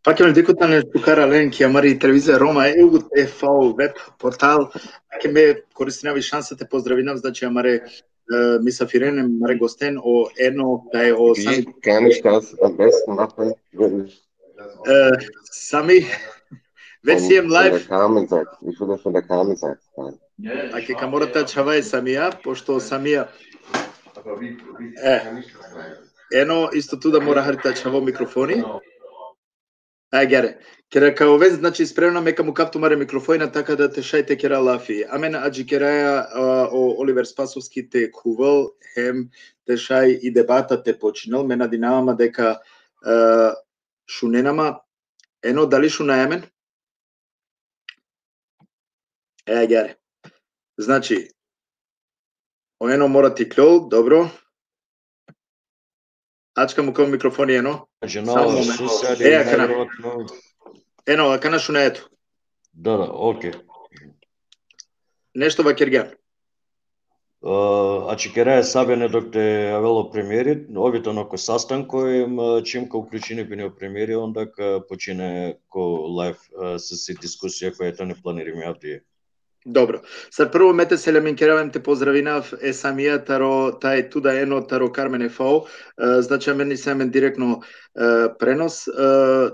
Пак ме декот на Шукара Ленки, амари телевизија Рома ЕУ ТФ веб портал, ќе ме користинав и шансата поздравинав, значи амаре мисафирен, амаре гостен о едно тај о Wie kann ich das am besten machen, wenn ich Сами веќе си ем von лайв. der Carmen-Seite, ich würde von der Carmen-Seite sein. А ќе каморате чавај самија, пошто самија ено исто туда мора харта чаво микрофони. Гере. Кера као вез, значи спремна мека му капту маре микрофоина така да те шајте кера лафи. Амен аджи кераја о Оливер Спасовски те кувал, хем те шај и дебата те починал, ме надинавама дека шуненама, ено дали шунајамен? Гере. Значи, ено мора ти клол, добро. Ачка му као микрофони ено. Ено, а кана шунаето? Да, окей. Нешто ва Киргјан. А чекерај сабене док те авело премиери, овито нако састанко чимка уклучени бене премиери, онда почине ко лайв с дискусија која тоа не планириме авдие. Добро. Сад прво мете се леменкеравам те поздравинав самија таро тај туда ено таро Кармен ФО, значи мени се мен директно пренос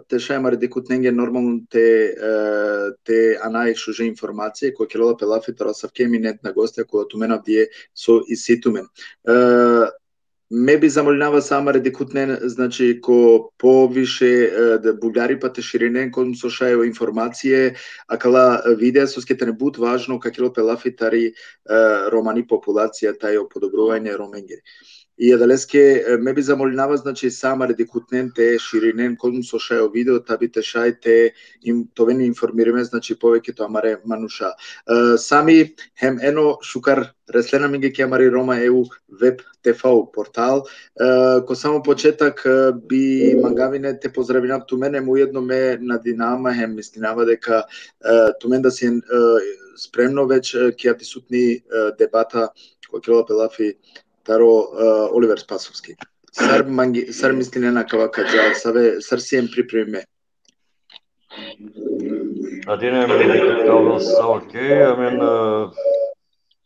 те шајмари декут ненге нормално те анај шуже информација кој келола пелафи таро савкеминет на гостја која туменав дие со иситумен. Ме би замолинава самаре декутнен, значи ко повише бугари па те ширинен кон со шајо информација, акала видеа со скете не бут важно какело пелафитари романи популација тај подобрување роменгери. И едалеске ме би замолинава, значи самаре декутнен те ширинен кон со шајо видео таби те шајте им товени информириме, значи повеќе тоа маре мануша. Сами хем ено Шукар Реслена миге ке амари Рома ЕУ веб ТФ портал. Ко само почетак би мангавине те поздравинав ту мене, уедно ме надинама, хем мислинава дека ту мен да си спремно веќе ќе присутни дебата кој ќе пелафи таро Оливер Спасовски. Сар мислине на кава каджал, сар си ем припреме. Адине ме дека као са окей, амен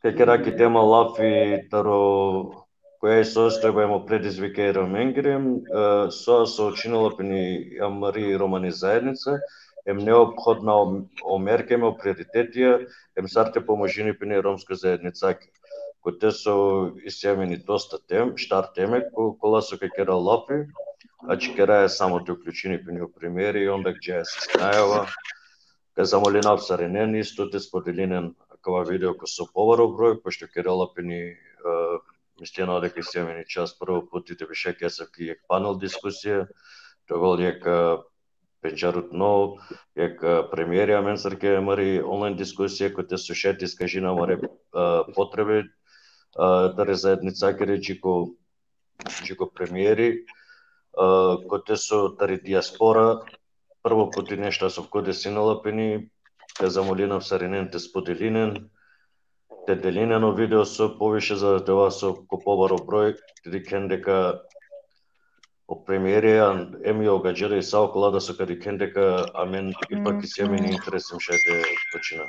кекераки тема лафи таро која е состојба емо предизвика и роменгерем, соа се очинала пени амари романи заедница, ем неопходна омерка, емо приоритетија, ем сарте поможини пени ромска заедница. Кој те со исјавени доста штар теме, кола со кекера лафи, а чекера е само те уклучени пени премиери и онда ќе се снајава, ка замолинав саренен исто те споделинен кава видео ко со поваро број, пошто керала пени мислено дека исјавени час прво пут и те беше кесавки јек панел дискусија, тогол јек пенчарут но, јек премиери амен сарке мари онлайн дискусија кој те со шети скажина маре потреби таре заедница ке речи ко премиери, кој те со тари диаспора, прво пути нешта со коде синала пени, ке замолинав саринен те споделинен, те делинено видео со повише за това со ко побаро број, кен дека о премиерија еми огаџера и саокола да со кади кен дека амен ипак и семени интересим шајте почина.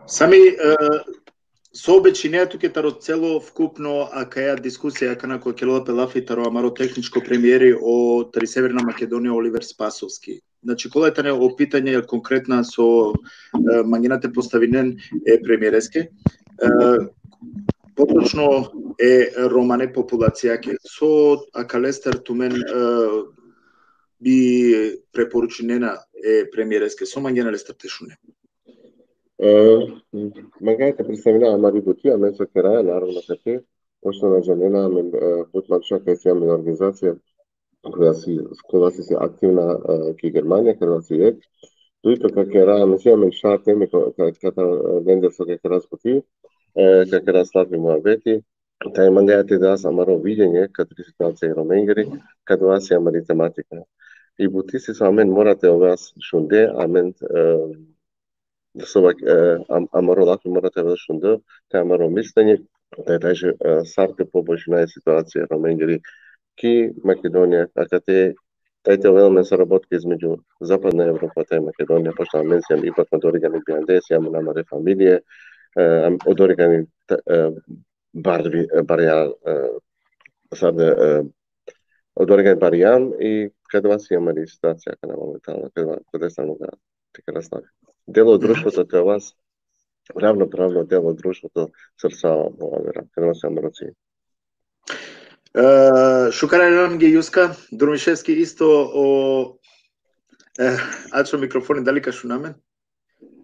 Сами со обечинеато ке таро цело вкупно акаја дискусија кана кој келола пелафи таро амаро техничко премиери о тари Северна Македонија Оливер Спасовски. Значи кола е о питање конкретна со мангината поставинен е премиереске. Поточно е романе популација ке со акалестер тумен би препорученена е премиереске со мангина лестер тешуне. Магата представлява Мари Бутија, мен со кераја, наравно кај пошто на женена, мен Бутманша кај си имаме организација која си активна ки Германија, кај си е. Туито кај кераја, мен си имаме шар теми ката вендер со кај кераја споти, кај кераја слави муабети, тај мангајате да са маро видење, кај три ситуација и роменгери, кај тоа си амари тематика. И бутиси со амен морате овеас шунде, амен амаро лафи морате овеас шунде, тај амаро мислење, тај сарте побојшна е ситуација роменгери ки Македонија, ака те Ете велме соработки измеѓу Западна Европа и Македонија, пошто менсијам ипак од оригани биандес, јамо намаре фамилие, од оригани барјан, од оригани барјан и каде вас имаме ситуација каде моментално, каде само да така настави. Дел од друштвото кај вас, равноправно дел од друштвото срцава во вера, каде вас имаме роци. Шукарам ги Јуска, Друмишевски исто о ачо микрофони дали кашу на мен?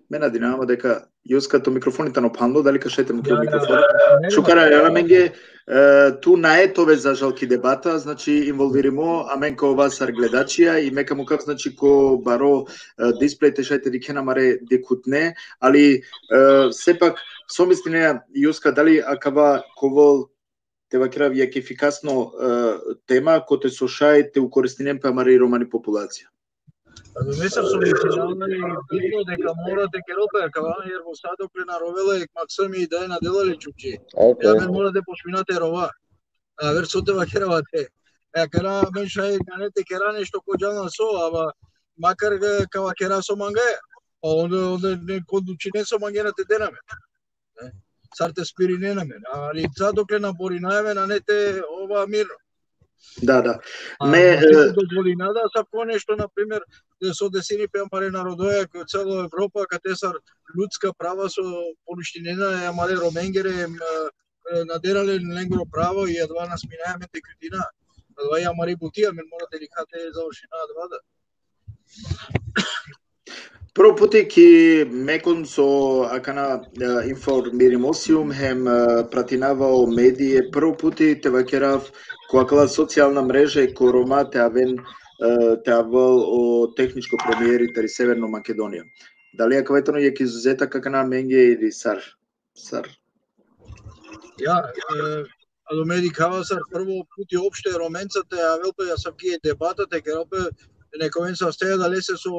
Мена динама дека Јуска то микрофоните на панло дали кашете микрофон. Шукарам ги ту наетове за жалки дебата, значи инволвиримо, а мен ко вас гледачија и мека му как значи ко баро дисплеј тешајте ди маре декутне, али сепак somistine Јуска дали акава ковол тева крави јак ефикасно тема кој те сошај те укористинем па мари романи популација. Мисля сум изјавили битно дека морате керопе кавана јер во садок наровела и максими идеја на делале чучи. Ја мен мора да пошминате рова. А вер сотева керавате. Кера мен шај ганете кера нешто којано со, ама макар кава кера со мангаја. Онде не кондучине со мангената денаме. Сарте спирине на мен, али садокле на Боринаеве на нете ова мирно. Да. Ме дозволинада сако нешто на пример со десини пеамаре народоја кој цела Европа каде са людска права со поништинена амаре роменгере надерале ленгро право и едва нас минаеме текутина. Едва ја мари бутија мен мора деликате завршина двада. Прво пути ки мекон со акана информиримосиум хем пратинавао медије, прво пути те вакерав која социјална мрежа и корома те авен те авал о техничко премиери тери Северно Македонија. Дали ја каветано јак изузета какана менге или сар? Ја, ало медикава сар прво пути опште роменцате авелпе ја сабки дебатате керопе некој се остеја да лесе со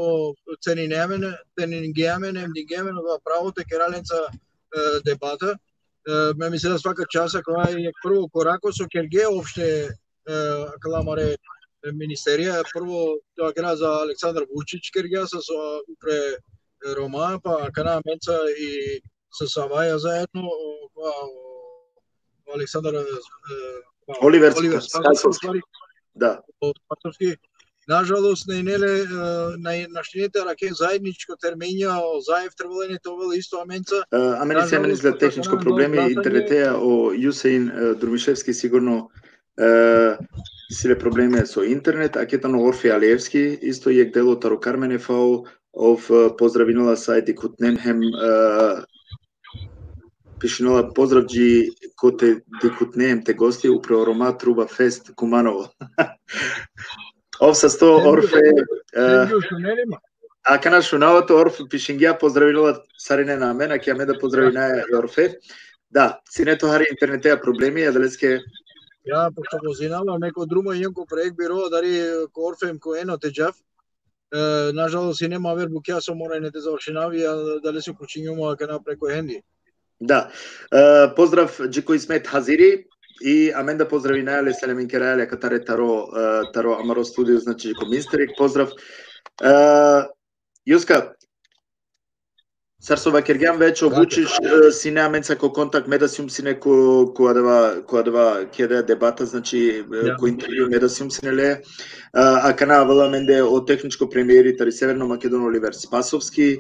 ценингеамене, мдингеамене во правото кераленца дебата. Ме мисли да свака часа која е прво корако со Керге опште каламаре министерија, прво тоа гра за Александар Вучич Кергеа со упре Рома, па кана менца и со Саваја заедно, Александар Оливер Спасовски. Да. Спасовски. Нажалост, на наштините раке заедничко терминја, заев трвалени тоа исто аменца. Амени се мене изглед техничко проблеми, интернетеја о Јусеин Друмишевски сигурно силе проблеми со интернет, а кетано Орфи Алиевски, исто јек дело Таро Карменефау, ов поздравинала сајти Кутненхем, пишинала поздравджи коте дикутнеем те гости упрео Рома Труба Фест Куманово. Ов са 100 Орфе... А кана шунавато Орф пишингија поздравила сарине на мен, а ќе ме да поздравина Орфе. Да, синето хари интернетеја проблеми, а далеске... Ја, пошто го зинава, неко друго јенко проект биро, дари ко Орфем ко ено те джав. Нажалост и нема вер букја со мора не те завршинави, а дали се кучињума кана преко хенди. Да. Поздрав Джико Исмет Хазири. И амен да поздрави најале Селемин Керајале катаре Таро Амаро студио, значи ко министерик, поздрав. Јуска, Сарсова Кергјан веќе обучиш сине аменца ко контакт медасиум сине која дава кеде дебата, значи ко интервју медасиум сине ле, а кана вела менде о техничко премиери тари Северно Македон Оливер Спасовски,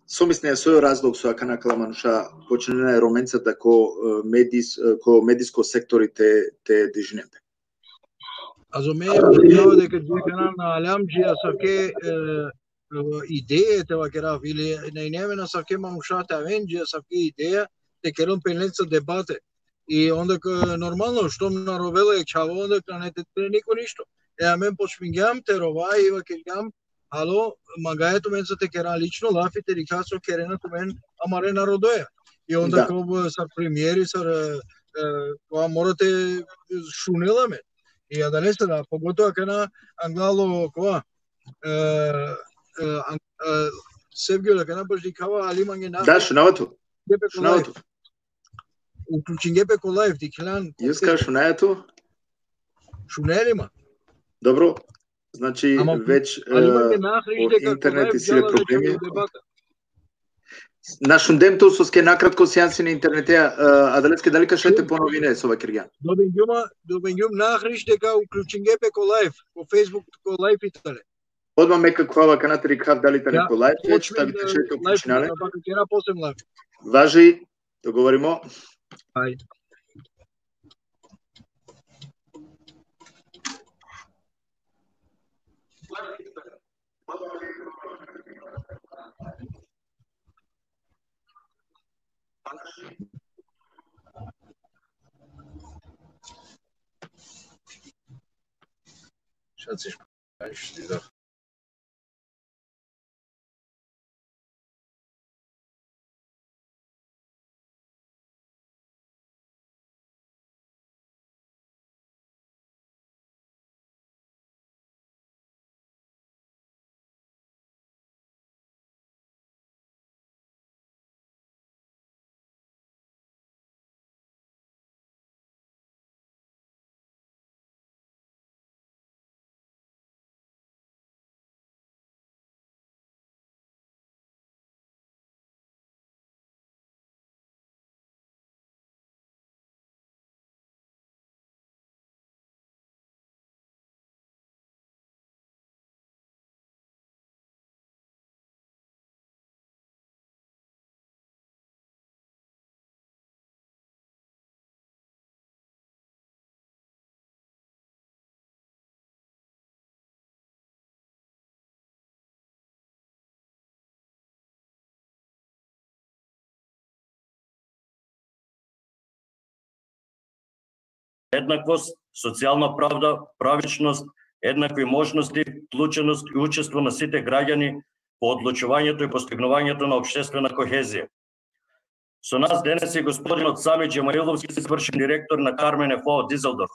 Somisne свој разлог со акана каламануша почнена е роменцата ко медиско сектори те дижнемте. А за ме е дека дека на Алямџија саке идеја вакера или најнемена саке манушата Авенџија саке идеја те керон пенленца дебате. И онда нормално што на ровела е чаво онда не те никој ништо. Е мен почмингам те рова и вакелгам ало, магајето мен за те кера лично лафите рикасо керенато мен амаре народоја. И онда кога са премиери са кога морате шунела мен. И ја да не се да поготоа кана англало кога Севгиола кана баш дикава алиманге на. Да, шунавато. Шунавато. Уклучингепе ко лајф дикелан. Јуска шунајато? Шунелима. Добро, значи веќе интернет и силе проблеми. Нашун дем тоа со ке накратко сеанси на интернетеа, Аделецке дали кажете поновине со ова Киргјан? Добењум нахриш дека уклучингепе ко лайф, по Facebook ко лайф итале. Одма мека квала канатери кав дали тане ко лайф, веќе ставите шето починале. Важи, договоримо. Ајде. Шациш да. еднаквост, социјална правда, правичност, еднакви можности, вклученост и учество на сите граѓани по одлучувањето и постигнувањето на општествена кохезија. Со нас денес е господинот Сами Џемаиловски, извршен директор на KarMeFo Дизелдорф,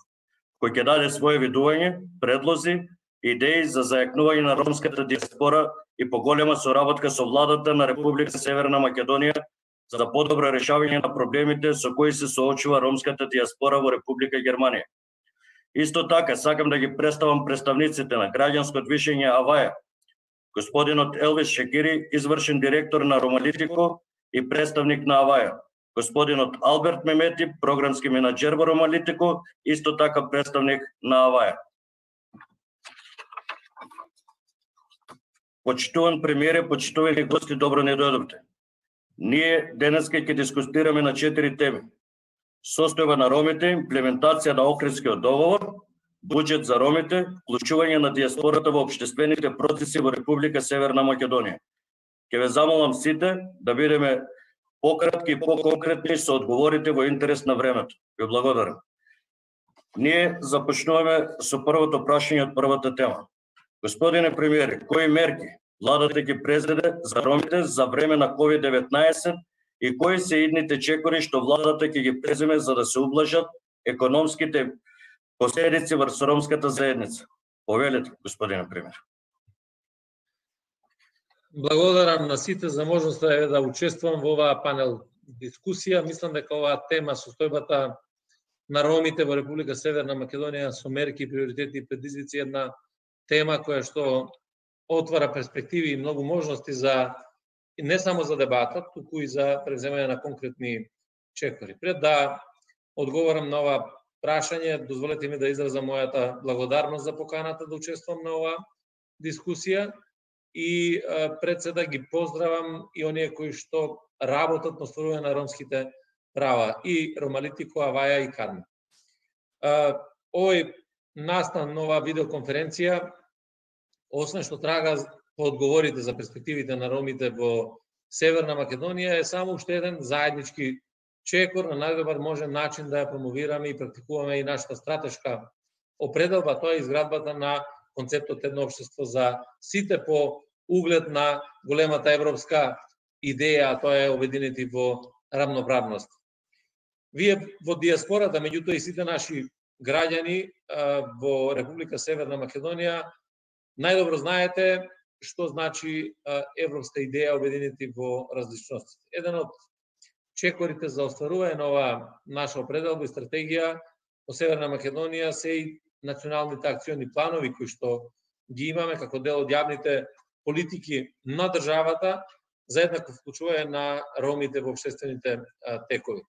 кој ќе даде своје видување, предлози, идеи за зајакнување на ромската диаспора и поголема соработка со владата на Република Северна Македонија за подобро решавање на проблемите со кои се соочува ромската диаспора во Република Германија. Исто така, сакам да ги представам представниците на граѓанско движење Аваја, господинот Елвис Шекири, извршен директор на Ромалитико и представник на Аваја, господинот Алберт Мемети, програмски менаџер во Ромалитико, исто така представник на Аваја. Почитуван премиере, почитувани гости, добро не дојдовте. Ние денеска ќе дискутираме на 4 теми: состојба на ромите, имплементација на Охридскиот договор, буџет за ромите, вклучување на диаспората во општествените процеси во Република Северна Македонија. Ќе ве замолам сите да бидеме пократки и поконкретни со одговорите во интерес на времето. Ви благодарам. Ние започнуваме со првото прашање од првата тема. Господине премиере, кои мерки владата ќе презеде за ромите за време на COVID-19 и кои се идните чекори што владата ќе ги преземе за да се ублажат економските последици врз ромската заедница? Повелете, господине премиер. Благодарам на сите за можноста да учествувам во оваа панел дискусија. Мислам дека оваа тема, состојбата на ромите во Република Северна Македонија со мерки, приоритети и предизвици, една тема која што отвара перспективи и многу можности за не само за дебата, туку и за преземање на конкретни чекори. Пред да одговорам на ова прашање, дозволете ми да изразам мојата благодарност за поканата да учествувам на оваа дискусија и пред се да ги поздравам и оние кои што работат на остварување на ромските права, и Ромалитико, Аваја и KarMe. Овој настан на оваа видеоконференција, освен што трага по одговорите за перспективите на ромите во Северна Македонија, е само уште еден заеднички чекор на најдобар можен начин да ја промовираме и практикуваме и нашата стратешка определба, тоа е изградбата на концептот едно општество за сите по углед на големата европска идеја, а тоа е обединети во рамноправност. Вие во диаспората, меѓутоа и сите наши граѓани во Република Северна Македонија, најдобро знаете што значи европска идеја обединети во различностите. Еден од чекорите за остварување на оваа наша определба и стратегија во Северна Македонија се и националните акциони планови кои што ги имаме како дел од јавните политики на државата за еднакво вклучување на ромите во општествените текови.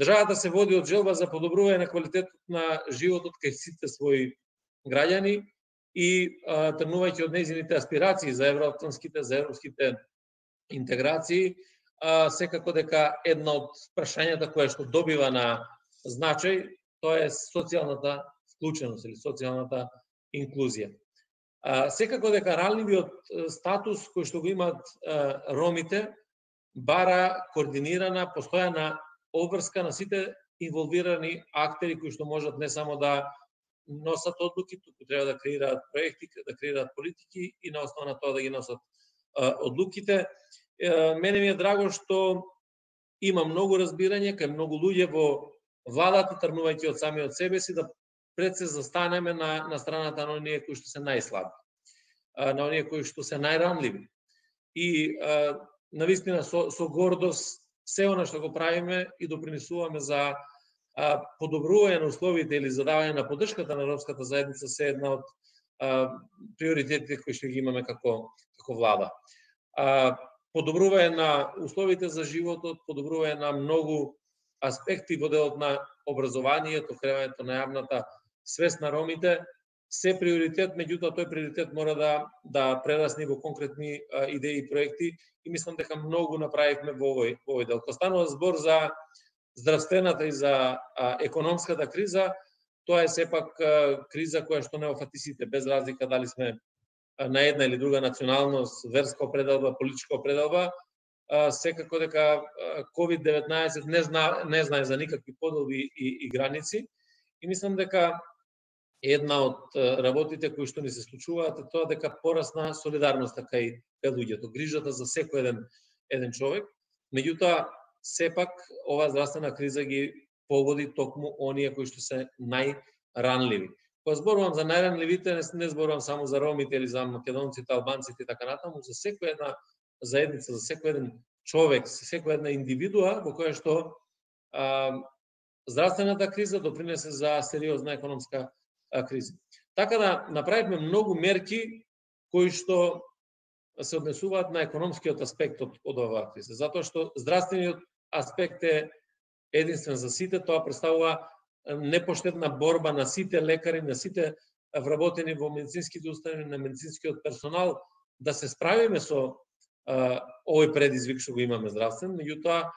Државата се води од желба за подобрување на квалитетот на животот кај сите своји граѓани и тргнувајќи од нејзините аспирации за европските интеграции, секако дека една од прашањата која што добива на значај, тоа е социјалната вклученост или социјалната инклузија. Секако дека ранливиот статус кој што го имаат ромите бара координирана, постојана обврска на сите инволвирани актери кои што можат не само да носат одлуки, туку треба да креираат проекти, да креираат политики и на основа на тоа да ги носат одлуките. Мене ми е драго што има многу разбирање кај многу луѓе во владата, тргнувајќи од самиот себе си, да пред се застанеме на страната на оние кои што се најслаби, на оние кои што се најранливи. И навистина со гордост се она што го правиме и допринесуваме за подобрување на условите или за давање на поддршката на ромската заедница се една од приоритетите кои што ги имаме како влада. Подобрување на условите за животот, подобрување на многу аспекти во делот на образованието, креањето на јавната свест на ромите, се приоритет, меѓутоа тој приоритет мора да прерасне во конкретни идеи и проекти и мислам дека многу направивме во овој дел. Кога станува збор за здравствената и за економската криза, тоа е сепак криза која што не офати сите, без разлика дали сме на една или друга националност, верска определба, политичка определба, секако дека COVID-19 не знае за никакви поделби и граници и мислам дека една од работите кои што ни се случуваат е тоа дека порасна солидарноста кај луѓето, грижата за секој еден човек. Меѓутоа, сепак оваа здравствена криза ги погоди токму оние кои што се најранливи. Кога зборувам за најранливите, не зборувам само за ромите или за македонците, албанците и така натаму, за секоја една заедница, за секој еден човек, за секоја една индивидуа во која што здравствената криза допринесе за сериозна економска криза. Така да направивме многу мерки кои што се однесуваат на економскиот аспект од оваа криза, затоа што здравствениот аспект е единствен за сите, тоа представува непоштедна борба на сите лекари, на сите вработени во медицинските установи, на медицинскиот персонал, да се справиме со овој предизвик што го имаме здравствен, меѓутоа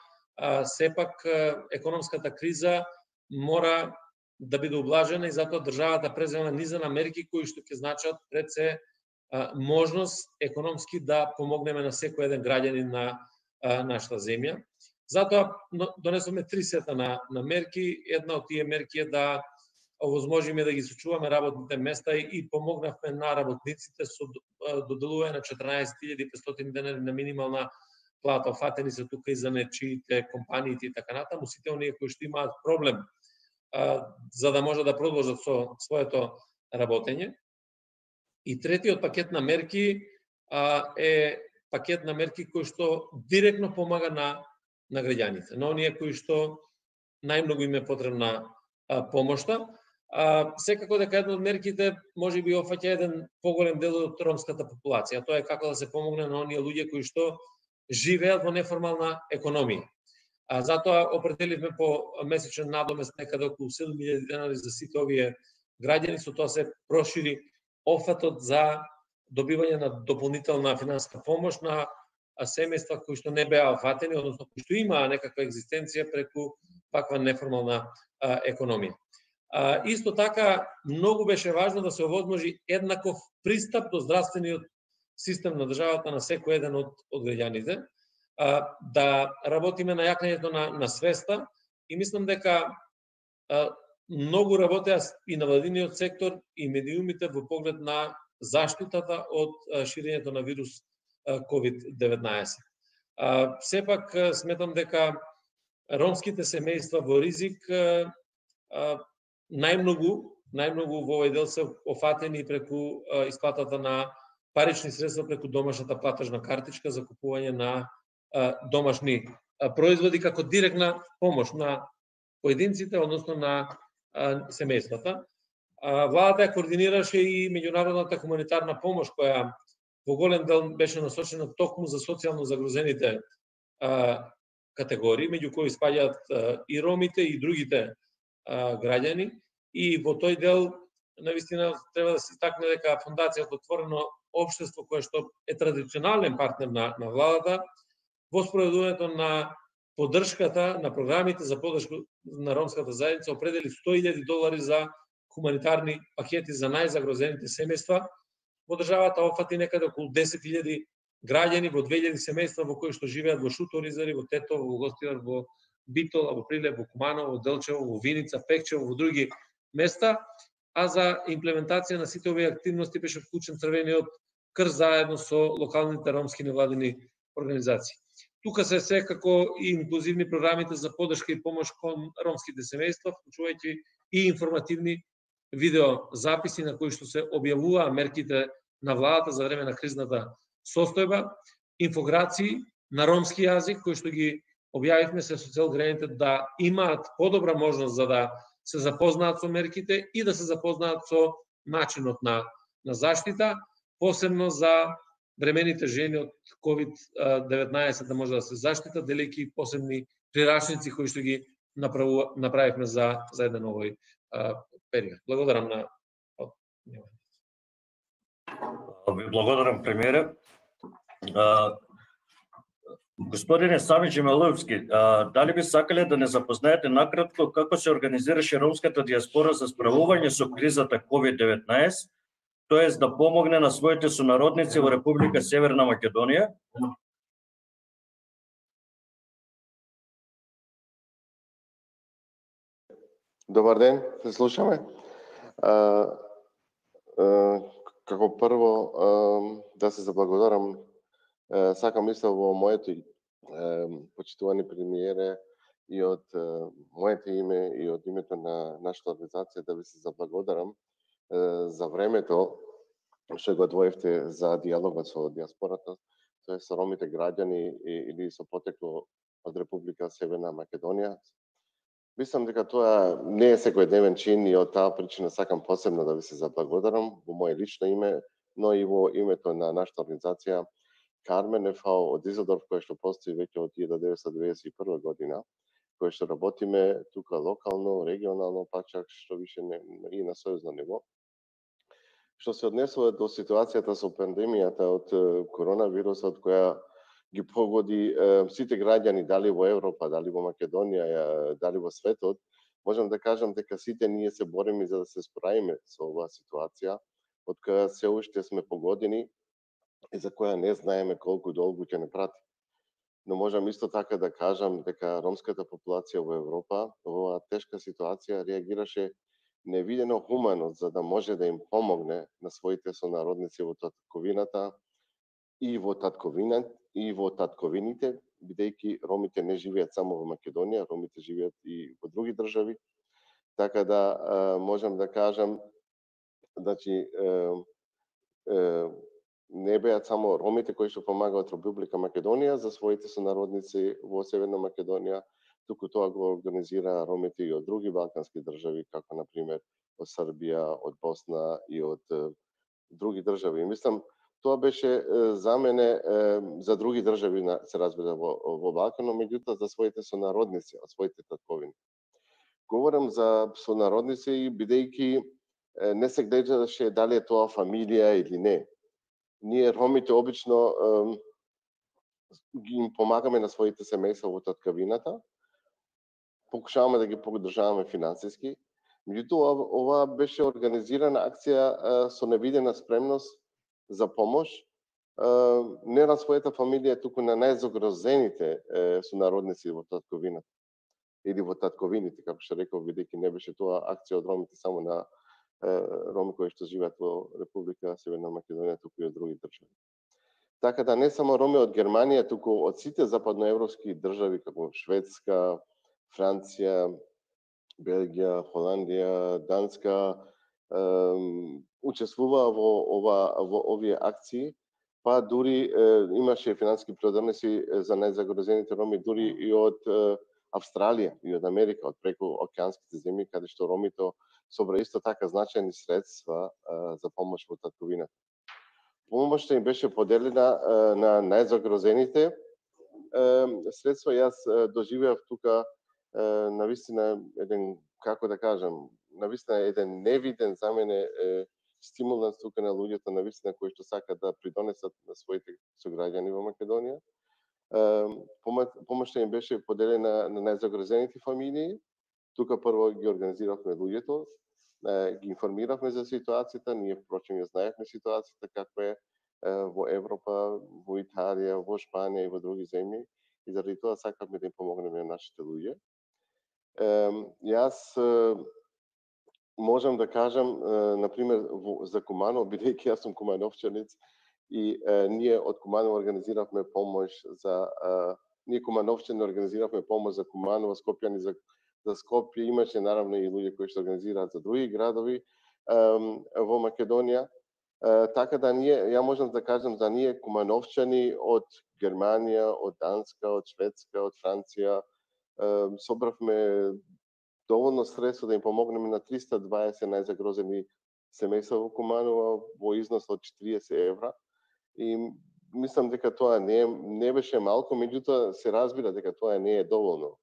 сепак економската криза мора да биде ублажена и затоа државата презема низа на мерки кои што ќе значат пред се можност економски да помогнеме на секој еден граѓанин на нашата земја. Затоа донесоме 3 сета на мерки. Една од тие мерки е да овозможиме да ги сочуваме работните места и помогнавме на работниците со доделување на 14.500 денари на минимална плата. Офатени се тука и занечиите, компаниите и така натаму, сите оние кои што имаат проблем за да може да продолжат со своето работење. И третиот пакет на мерки е пакет на мерки кој што директно помага на граѓаните, на оние кои што најмногу им е потребна помошта. Секако дека една од мерките може би офаќа еден поголем дел од ромската популација. Тоа е како да се помогне на оние луѓе кои што живеат во неформална економија. Затоа определивме по месечен надомест некаде околу 7.000 денари за сите овие граѓани, со тоа се прошири офатот за добивање на дополнителна финансиска помош на семејства кои што не беа офатени, односно кои што имаа некаква екзистенција преку ваква неформална економија. Исто така, многу беше важно да се овозможи еднаков пристап до здравствениот систем на државата на секој еден од граѓаните, да работиме на јакнењето на свеста и мислам дека многу работеа и на владиниот сектор и медиумите во поглед на заштитата од ширењето на вирус COVID-19. Сепак сметам дека ромските семејства во ризик најмногу во овој дел се офатени преку исплатата на парични средства преку домашната платежна картичка за купување на домашни производи како директна помош на поединците, односно на семејствата. Владата ја координираше и меѓународната хуманитарна помош, која во голем дел беше насочена токму за социјално загрозените категории, меѓу кои спаѓаат и ромите и другите граѓани. И во тој дел, навистина, треба да се истакне дека Фондацијата Отворено општество, кое што е традиционален партнер на владата, во спроведувањето на поддршката на програмите за поддршка на ромската заедница определи $100,000 за хуманитарни пакети за најзагрозените семејства. Во државата опфати некаде околу 10,000 граѓани во 2,000 семејства во кои што живеат во Шуторизари, во Тетово, во Гостивар, во Битола, во Прилеп, во Куманово, во Делчево, во Виница, Пекчево, во други места, а за имплементација на сите овие активности беше вклучен Црвениот крст заедно со локалните ромски невладини организации. Тука се секако и инклузивни програмите за поддршка и помош кон ромските семејства, вклучувајќи и информативни видеозаписи на кои што се објавуваа мерките на владата за време на кризната состојба, инфограции на ромски јазик кои што ги објавивме се со цел граѓаните да имаат подобра можност за да се запознаат со мерките и да се запознаат со начинот на заштита, посебно за бремените жени од COVID-19 да може да се заштитат, делејќи посебни прирачници кои што ги направивме за еден овој период. Благодарам на Ви благодарам, премиере. Господине Сами Джемеловски, дали би сакале да не запознаете накратко како се организираше ромската диаспора за справување со кризата COVID-19, тоест да помогне на своите сонародници во Република Северна Македонија? Добар ден, се слушаме. Како прво да се заблагодарам, сакам исто во моето почитувани премиере и од моето име и од името на нашата организација да ви се заблагодарам за времето што го одвоивте за диалогот со диаспората, тоа со ромите граѓани или со потекло од Република Северна Македонија. Мислам дека тоа не е секојдневен чин и од таа причина сакам посебно да ви се заблагодарам во моје лично име, но и во името на нашата организација Кармен ФАО од Изодорф, кој што постои веќе од 1991 година, кој што работиме тука локално, регионално, па чак што више и на сојузно ниво. Што се однесува до ситуацијата со пандемијата од коронавирусот, која ги погоди сите граѓани, дали во Европа, дали во Македонија, дали во светот, можам да кажам дека сите ние се бориме за да се справиме со оваа ситуација, од која се уште сме погодени и за која не знаеме колку долго ќе не прати. Но можам исто така да кажам дека ромската популација во Европа во оваа тешка ситуација реагираше невидено хумано за да може да им помогне на своите сонародници во татковината и во татковините, бидејќи ромите не живеат само во Македонија, ромите живеат и во други држави. Така да можам да кажам, значи не беат само ромите кои што помагаат Република Македонија за своите сонародници во Северна Македонија, туку тоа го организира ромите и од други балкански држави, како на пример од Србија, од Босна и од други држави. Мислам, тоа беше за мене за други држави се разбира во Балканот, меѓутоа за своите сонародници, од своите татковини. Говорам за сонародници бидејќи не се гледаше дали е тоа фамилија или не. Ние ромите обично ги им помагаме на своите семејства во таткавината, покушаваме да ги поддржаваме финансиски. Меѓутоа, ова беше организирана акција со невидена спремност за помош, не на својата фамилија, туку на најзагрозените сонародници во татковината. Или во татковините, како што реков, бидејќи не беше тоа акција од ромите само на роми кои што живеат во Република Северна Македонија, туку и од други држави. Така да не само роми од Германија, туку од сите западноевропски држави, како Шведска, Франција, Белгија, Холандија, Данска, учествуваа во овие акции, па дури имаше финансиски продавници за најзагрозените роми, дури и од Австралија и од Америка, од преку океанските земји, каде што ромите собра исто така значајни средства за помош во татковината. Помошта им беше поделена на најзагрозените средства. Јас доживеав тука навистина еден, како да кажам, навистина еден невиден за мене стимуланс тука на луѓето навистина кои што сакаат да придонесат на своите сограѓани во Македонија. Помошта им беше поделена на најзагрозените фамилии. Тука прво ги организиравме луѓето, ги информиравме за ситуацијата, ние впрочем ја знаевме ситуацијата каква е во Европа, во Италија, во Шпанија и во други земји, и заради тоа сакавме да им помогнеме на нашите луѓе. Јас можам да кажам, например, за Куманово, бидејќи јас сум кумановчанец, и ние од Куманово организиравме помош за ние кумановчани организиравме помош за Куманово, скопјани за Скопје, имаше наравно и луѓе кои што организираат за други градови во Македонија. Така да ние, ја можам да кажам за ние кумановчани од Германија, од Данска, од Шведска, од Франција, собравме доволно средства да им помогнеме на 320 најзагрозени семејства во Куманово во износ од 40 евра. И мислам дека тоа не беше малку, меѓутоа се разбира дека тоа не е доволно.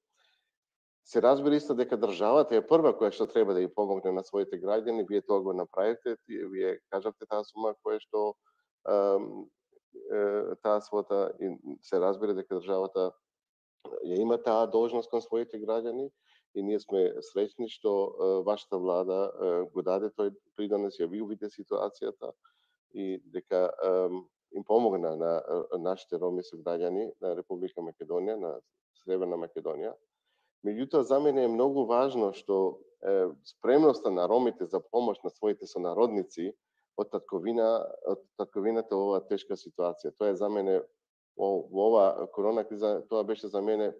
Се разбира исто дека државата е прва која што треба да ја помогне на своите граѓани. Вие тоа го направите, вие кажавте таа сума која што таа свота, се разбира дека државата ја има таа должност кон своите граѓани, и ние сме среќни што вашата влада го даде тој придонес, ја ви увиде ситуацијата и дека им помогна на нашите роми сограѓани на Република Македонија, на Северна Македонија. Меѓутоа, за мене е многу важно што спремноста на ромите за помош на своите сонародници од татковината во оваа тешка ситуација. Тоа е за мене во ова корона криза, тоа беше за мене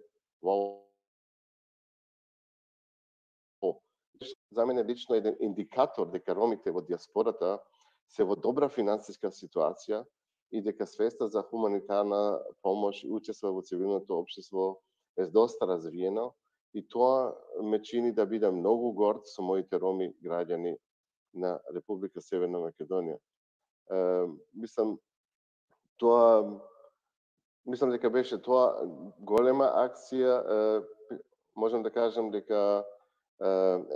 за мене лично еден индикатор дека ромите во диаспората се во добра финансиска ситуација и дека свеста за хуманитарна помош и учество во цивилното општество е доста развиено. И тоа ме чини да бидам многу горд со моите роми граѓани на Република Северна Македонија. Мислам дека беше тоа голема акција. Можам да кажам дека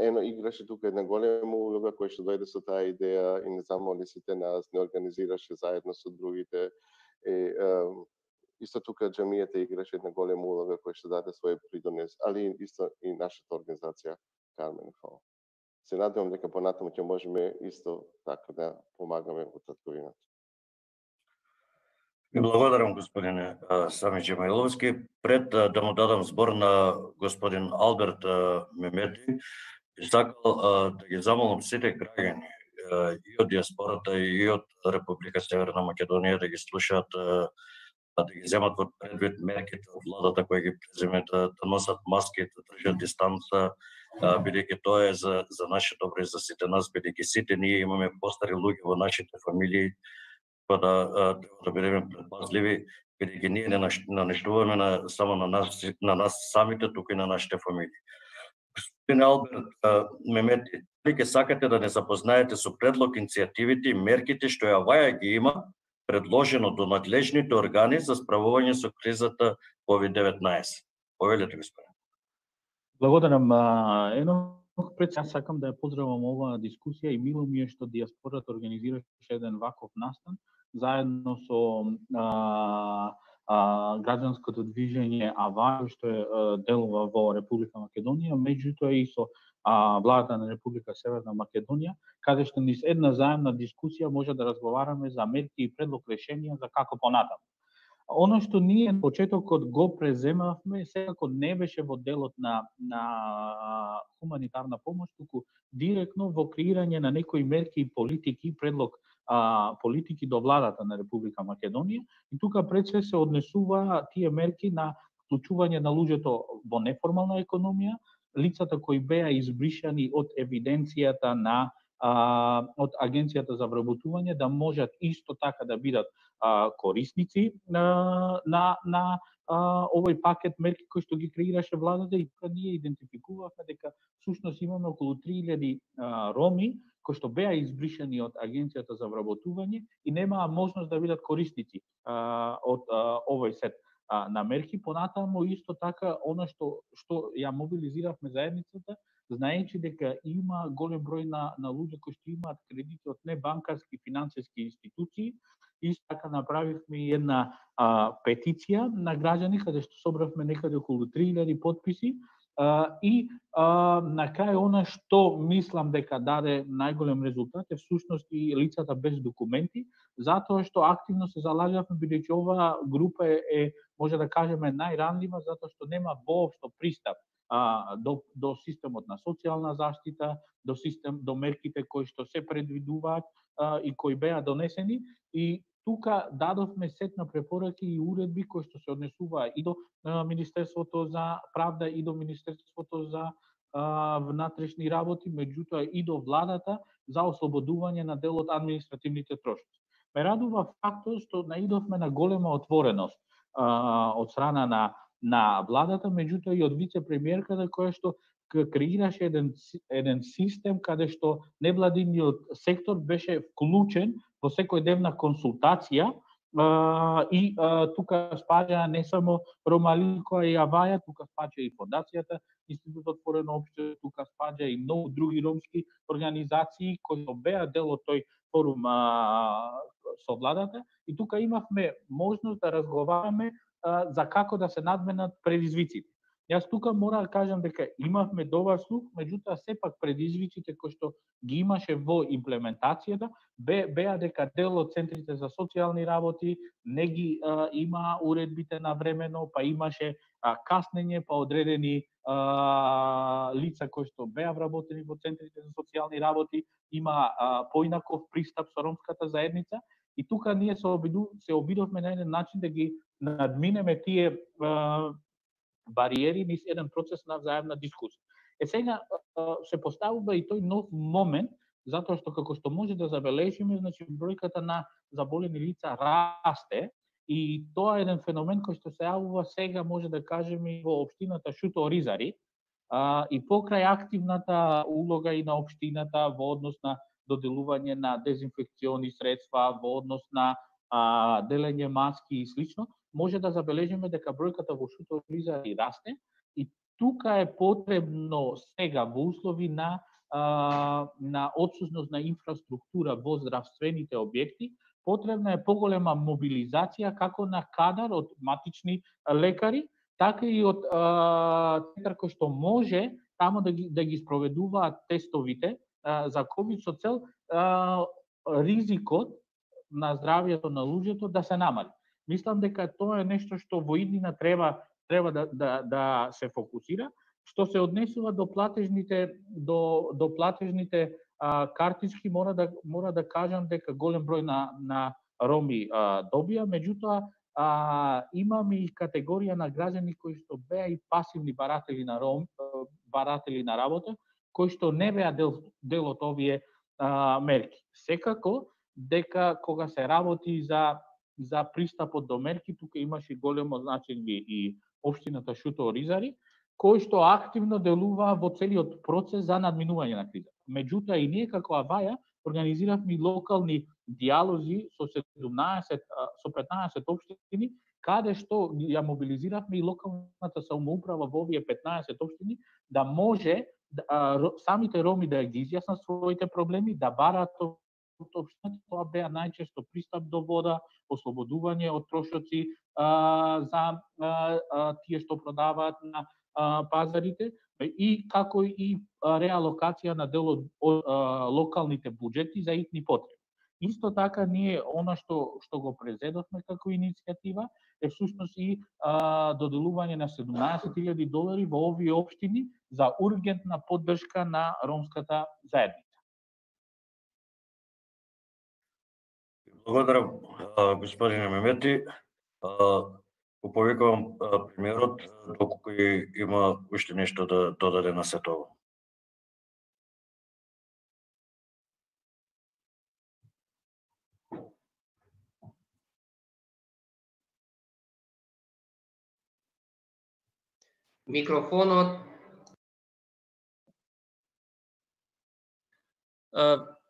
ено играше тука една голема улога која што дојде со таа идеја и не замоли сите нас, не организираше заедно со другите. Исто тука џамијата играше една голема улога која што даде свој придонес, али исто и нашата организација Кармен Фол. Се надевам дека понатаму ќе можеме исто така да помагаме во татковината. Ви благодарам, господине Сами Джемаиловски. Пред да му дадам збор на господин Алберт Мемети, би сакал да ги замолам сите граѓани и од диаспората и од Република Северна Македонија да ги слушаат, да ги земат во предвид мерките од владата кои ги преземе, да носат маски, да држат дистанца, бидејќи тоа е за наше добро и за сите нас, бидејќи сите ние имаме постари луѓе во нашите фамилии, па да бидеме предпазливи, бидејќи ние не нанештуваме само на нас самите, туку и на нашите фамилии. Господин Алберт Мемети, дали ќе сакате да не запознаете со предлог, иницијативите и мерките што ја ги има предложено до надлежните органи за справување со кризата COVID-19? Повелете, господин. Благодарам. Пред јас сакам да ја поздравам оваа дискусија и мило ми е што диаспората организираше еден ваков настан заедно со граѓанското движење АВА, што е делува во Република Македонија, меѓутоа и со владата на Република Северна Македонија, каде што низ една заемна дискусија може да разговараме за мерки и предлог решенија за како понатаму. Оно што ние на почетокот го преземавме, секако не беше во делот на хуманитарна помош, туку директно во креирање на некои мерки и политики, предлог политики до владата на Република Македонија. И тука пред се однесува тие мерки на вклучување на луѓето во неформална економија, лицата кои беа избришани од евиденцијата од Агенцијата за вработување, да можат исто така да бидат корисници на овој пакет мерки кој што ги креираше владата и ние идентификувавме дека всушност имаме околу 3000 роми кои што беа избришани од Агенцијата за вработување и немаа можност да бидат корисници од овој сет на мерки. Понатаму исто така она што ја мобилизиравме заедницата, знаејќи дека има голем број на луѓе кои што имаат кредити од небанкарски финансиски институции. Исто така направивме една петиција на граѓани каде што собравме некаде околу 3000 потписи и на крај она што мислам дека даде најголем резултат е всушност и лицата без документи, затоа што активно се залагавме бидејќи оваа група е може да кажеме најранлива затоа што нема воопшто пристап до системот на социјална заштита, до мерките кои што се предвидуваат и кои беа донесени, и тука дадовме сет на препораки и уредби кои што се однесуваа и до Министерството за правда и до Министерството за внатрешни работи, меѓутоа и до владата за ослободување на дел од административните трошоци. Ме радува фактот што наидовме на голема отвореност од страна на владата, меѓутоа и од вице-премиерката која што креираше еден систем каде што невладиниот сектор беше вклучен во секојдневна консултација и тука спаѓа не само Ромали која и Аваја, тука спаѓа и фондацијата Институт отворено општество, тука спаѓа и многу други ромски организации кои беа дел од тој форум со владата, и тука имавме можност да разговараме за како да се надменат предизвиците. Јас тука мора да кажам дека имавме добар слух, меѓутоа сепак предизвиците кои што ги имаше во имплементацијата беа дека дел од центрите за социјални работи не ги има уредбите навремено, па имаше каснење, па одредени лица кои што беа вработени во центрите за социјални работи има поинаков пристап со ромската заедница, и тука ние се обидовме на еден начин да ги надминеме тие бариери низ еден процес на заедна дискусија. Сега се поставува и тој нов момент, затоа што како што може да забележиме, значи бројката на заболени лица расте, и тоа е еден феномен кој што се јавува сега, може да кажеме, во општината Шуто-Оризари, и покрај активната улога и на општината во однос на доделување на дезинфекциони средства, во однос на делење маски и слично, може да забележиме дека бројката во Шуто-Оризари расте, и тука е потребно сега во услови на отсутност на инфраструктура во здравствените објекти, потребна е поголема мобилизација како на кадар од матични лекари, така и од центар кој што може тамо да ги спроведуваат тестовите за ковид со цел ризикот на здравјето на луѓето да се намали. Мислам дека тоа е нешто што во иднина треба да се фокусира. Што се однесува до платежните картички, мора да кажам дека голем број на роми добија, меѓутоа имаме и категорија на граѓани кои што беа и пасивни баратели на работа, кои што не беа дел од овие мерки. Секако дека кога се работи за пристапот до мерки, тука имаше големо значење и општината Шуто-Оризари, кој што активно делува во целиот процес за надминување на кризата. Меѓутоа и ние како Аваја организиравме локални диалози со 15 општини, каде што ја мобилизиравме и локалната самоуправа во овие 15 општини да може самите роми да ги изјаснат своите проблеми, да бараат од општината. Тоа беа најчесто пристап до вода, ослободување од трошоци за тие што продаваат на пазарите, и како и реалокација на дел од локалните буџети за итни потреби. Исто така ние она што го презедовме како иницијатива е всушност и доделување на $17,000 во овие општини за ургентна поддршка на ромската заедница. Благодарам, господине Мемети. Го повикувам премиерот, доколку има уште нешто да додаде на сето ово. Микрофонот.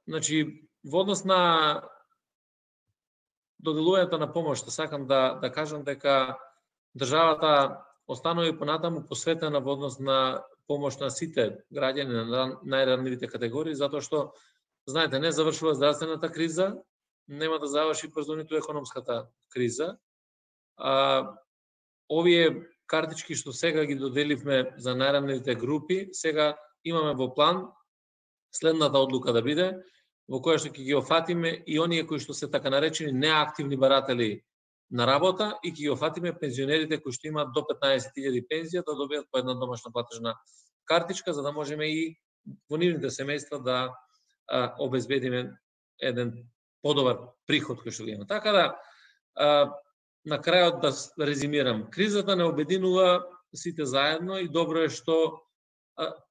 Значи, во однос на доделувањето на помош, сакам да кажам дека државата останува и понатаму посветена во однос на помош на сите граѓани на најранливите категории, затоа што, знаете, не завршува здравствената криза, нема да заврши брзо ниту економската криза. Овие картички што сега ги доделивме за најранливите групи, сега имаме во план следната одлука да биде, во која што ќе ги офатиме и оние кои што се така наречени неактивни баратели на работа и ќе ги офатиме пензионерите кои што имаат до 15.000 пензија да добијат по една домашна платежна картичка, за да можеме и во нивните семејства да обезбедиме еден подобар приход кој што го има. Така да, на крајот да резимирам, кризата не обединува сите заедно и добро е што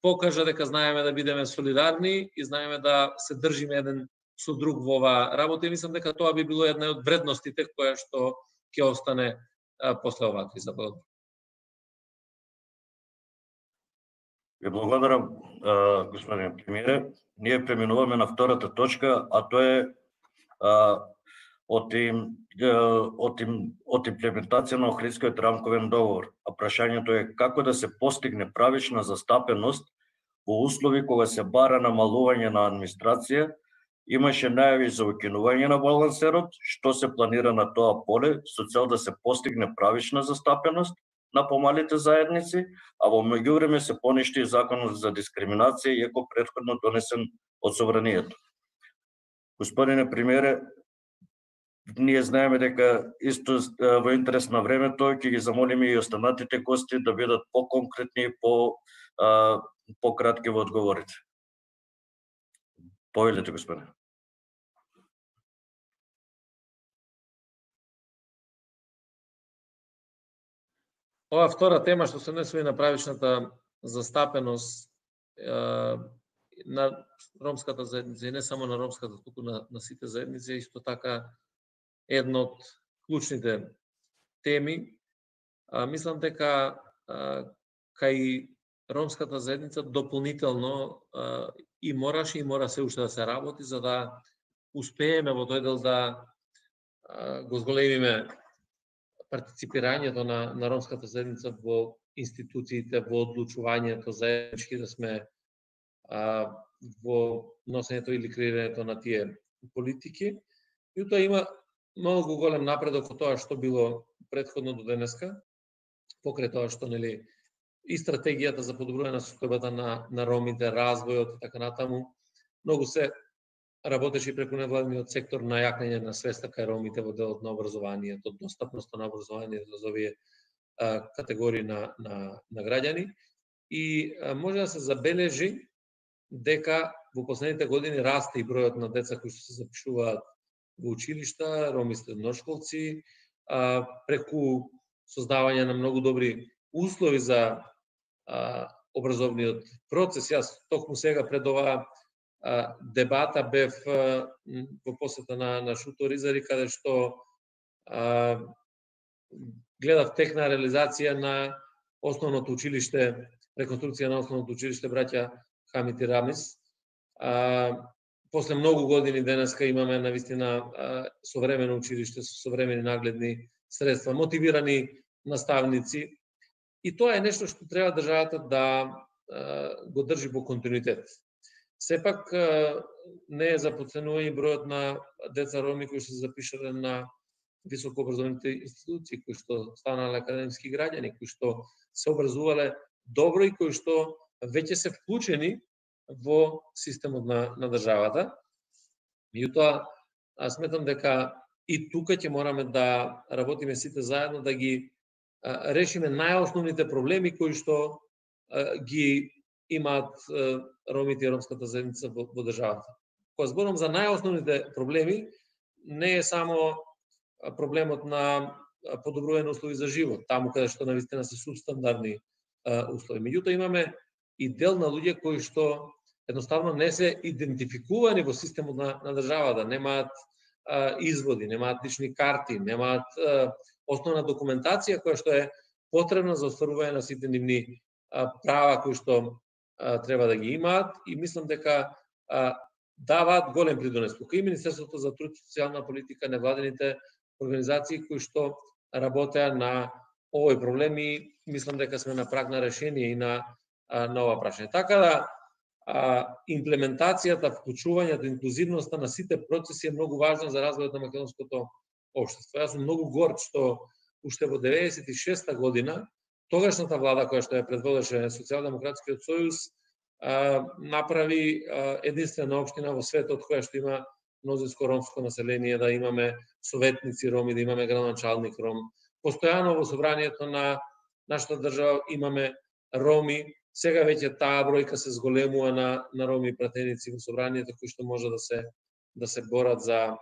покажа дека знаеме да бидеме солидарни и знаеме да се држиме еден со друг во оваа работа и мислам дека тоа би било една од вредностите која што ќе остане после оваа криза. Ви благодарам, господин премиере. Ние преминуваме на втората точка, а тоа е од имплементација на Охридскиот рамковен договор. А прашањето е како да се постигне правична застапеност во услови кога се бара намалување на администрација, имаше најави за укинување на балансерот, што се планира на тоа поле со цел да се постигне правична застапеност на помалите заедници, а во меѓувреме се поништи законот за дискриминација, иако претходно донесен од Собранието. Господине премиере, ние знаеме дека исто во интерес на времето ќе ги замолиме и останатите гости да бидат по-конкретни и по-кратки во одговорите. Повелете, господине. Ова втора тема што се однесува на правичната застапеност на ромската заедница и не само на ромската, туку на сите заедници, исто така една од клучните теми. Мислам дека кај ромската заедница дополнително и мораше и мора се уште да се работи за да успееме во тој дел да го зголемиме партиципирањето на ромската заедница во институциите, во одлучувањето, заеднички да сме во носењето или креирањето на тие политики. И тоа има многу голем напредок од тоа што било претходно до денеска, покрај тоа што нели и стратегијата за подобрување на состојбата на ромите, развојот и така натаму, многу се работеше преку невладиниот сектор на јакнење на свеста кај ромите во делот на образованието, достапноста на образованието за овие категории на граѓани. И може да се забележи дека во последните години расте и бројот на деца кои се запишуваат во училишта, роми средношколци, преку создавање на многу добри услови за образовниот процес. Јас токму сега пред оваа дебата бев во посета на Шуто Ризари, каде што гледав тек на реализација на основното училиште, реконструкција на основното училиште браќа Хамид и Рамис. После многу години денеска имаме навистина современо училиште со современи нагледни средства, мотивирани наставници. И тоа е нешто што треба државата да го држи во континуитет. Сепак не е за потценување бројот на деца роми кои се запишале на високообразовните институции, кои што станале академски граѓани, кои што се образувале добро и кои што веќе се вклучени во системот на државата. Меѓутоа, сметам дека и тука ќе мораме да работиме сите заедно да ги решиме најосновните проблеми кои што ги имаат ромите и ромската заедница во државата. Кога зборам за најосновните проблеми, не е само проблемот на подобрување на услови за живот, таму каде што навистина се субстандардни услови. Меѓутоа имаме и дел на луѓе кои што едноставно не се идентификувани во системот на државата, немаат изводи, немаат лични карти, немаат основна документација која што е потребна за остварување на сите нивни права кои што треба да ги имаат, и мислам дека даваат голем придонес. Тука и Министерството за труд и социјална политика, невладените организации кои што работеа на овој проблем, и мислам дека сме на праг на решение и на ова прашање. Така да имплементацијата, вклучувањето, инклузивноста на сите процеси е многу важна за развојот на македонското општество. Јас сум многу горд што уште во 96-та година тогашната влада која што ја предводеше Социјалдемократскиот сојуз направи единствена општина во светот која што има мнозинско ромско население, да имаме советници роми, да имаме градоначалник ром. Постојано во собранието на нашата држава имаме роми. Сега веќе таа бројка се зголемува на роми пратеници во собранието кои што може да се борат за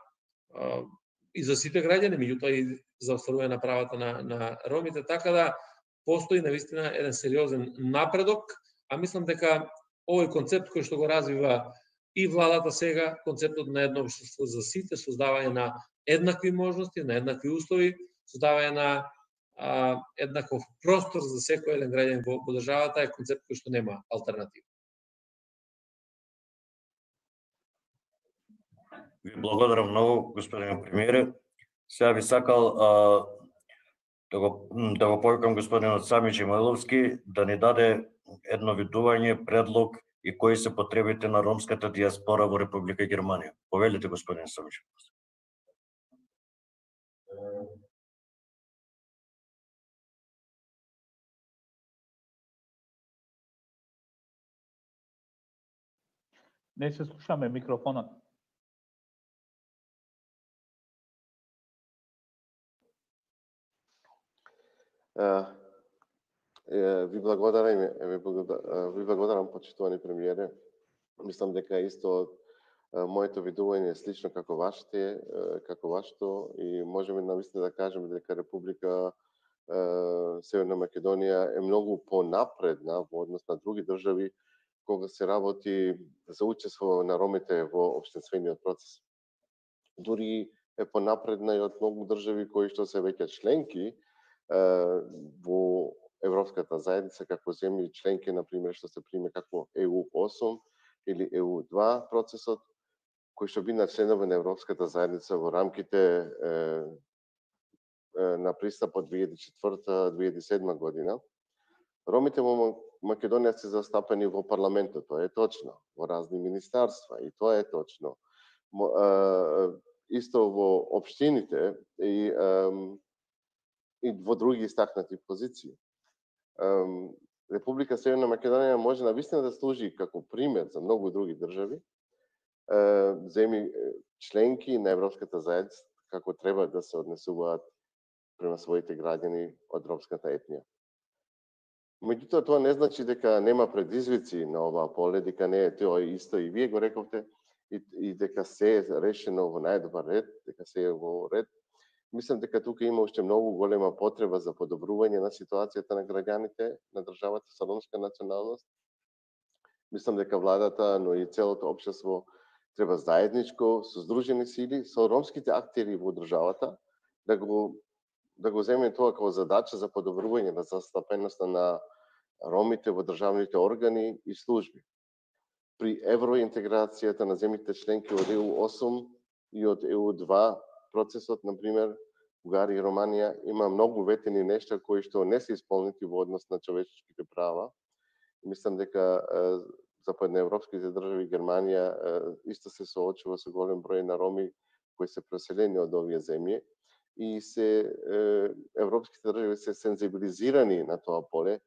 и за сите граѓани, меѓутоа и за остварување на правата на ромите, така да постои навистина еден сериозен напредок, а мислам дека овој концепт кој што го развива и владата сега, концептот на едно општество за сите, создавање на еднакви можности, на еднакви услови, создавање на еднаков простор за секој еден граѓанин во државата, е концепт кој што нема алтернатива. Ви благодарам многу, господин премиере. Сега би сакал да го повикам господинот Сами Джемиловски да ни даде едно видување, предлог и кои се потребите на ромската диаспора во Република Германија. Повелите, господин Сами Джемиловски. Не се слушаме микрофонот. Ви благодарам, почитувани премиере. Мислам дека исто моето видување е слично како вашето, и можеме навистина да кажеме дека Република Северна Македонија е многу понапредна во однос на други држави кога се работи за учество на ромите во општествениот процес. Дури е понапредна и од многу држави кои што се веќе членки во Европската заедница, како земји членки, например, што се приме како EU8 или EU2 процесот, кои што би членови на Европската заедница во рамките на пристапот 2004-2007 година. Ромите во Македонија се застапени во парламентот, тоа е точно, во разни министарства, и тоа е точно. Исто во општините и во други истакнати позиции. Република Северна Македонија може навистина да служи како пример за многу други држави, земји членки на Европската заедница, како треба да се однесуваат према своите граѓани од ромската етнија. Меѓутоа, тоа не значи дека нема предизвици на оваа поле, дека не е тоа исто, и вие го рековте, и дека се е решено во најдобар ред, дека се е во ред. Мислам дека тука има уште многу голема потреба за подобрување на ситуацијата на граѓаните на државата со ромска националност. Мислам дека владата, но и целото општество треба заедничко, со здружени сили, со ромските актери во државата, да го земе тоа како задача за подобрување на застапеноста на ромите во државните органи и служби. При евроинтеграцијата на земјите членки од EU8 и од EU2 процесот, например, Бугарија и Романија, има многу ветени нешта кои што не се исполнети во однос на човеческите права. Мислам дека западноевропските држави, Германија, исто се соочува со голем број на роми кои се преселени од овие земји, и европските држави се сензибилизирани на тоа поле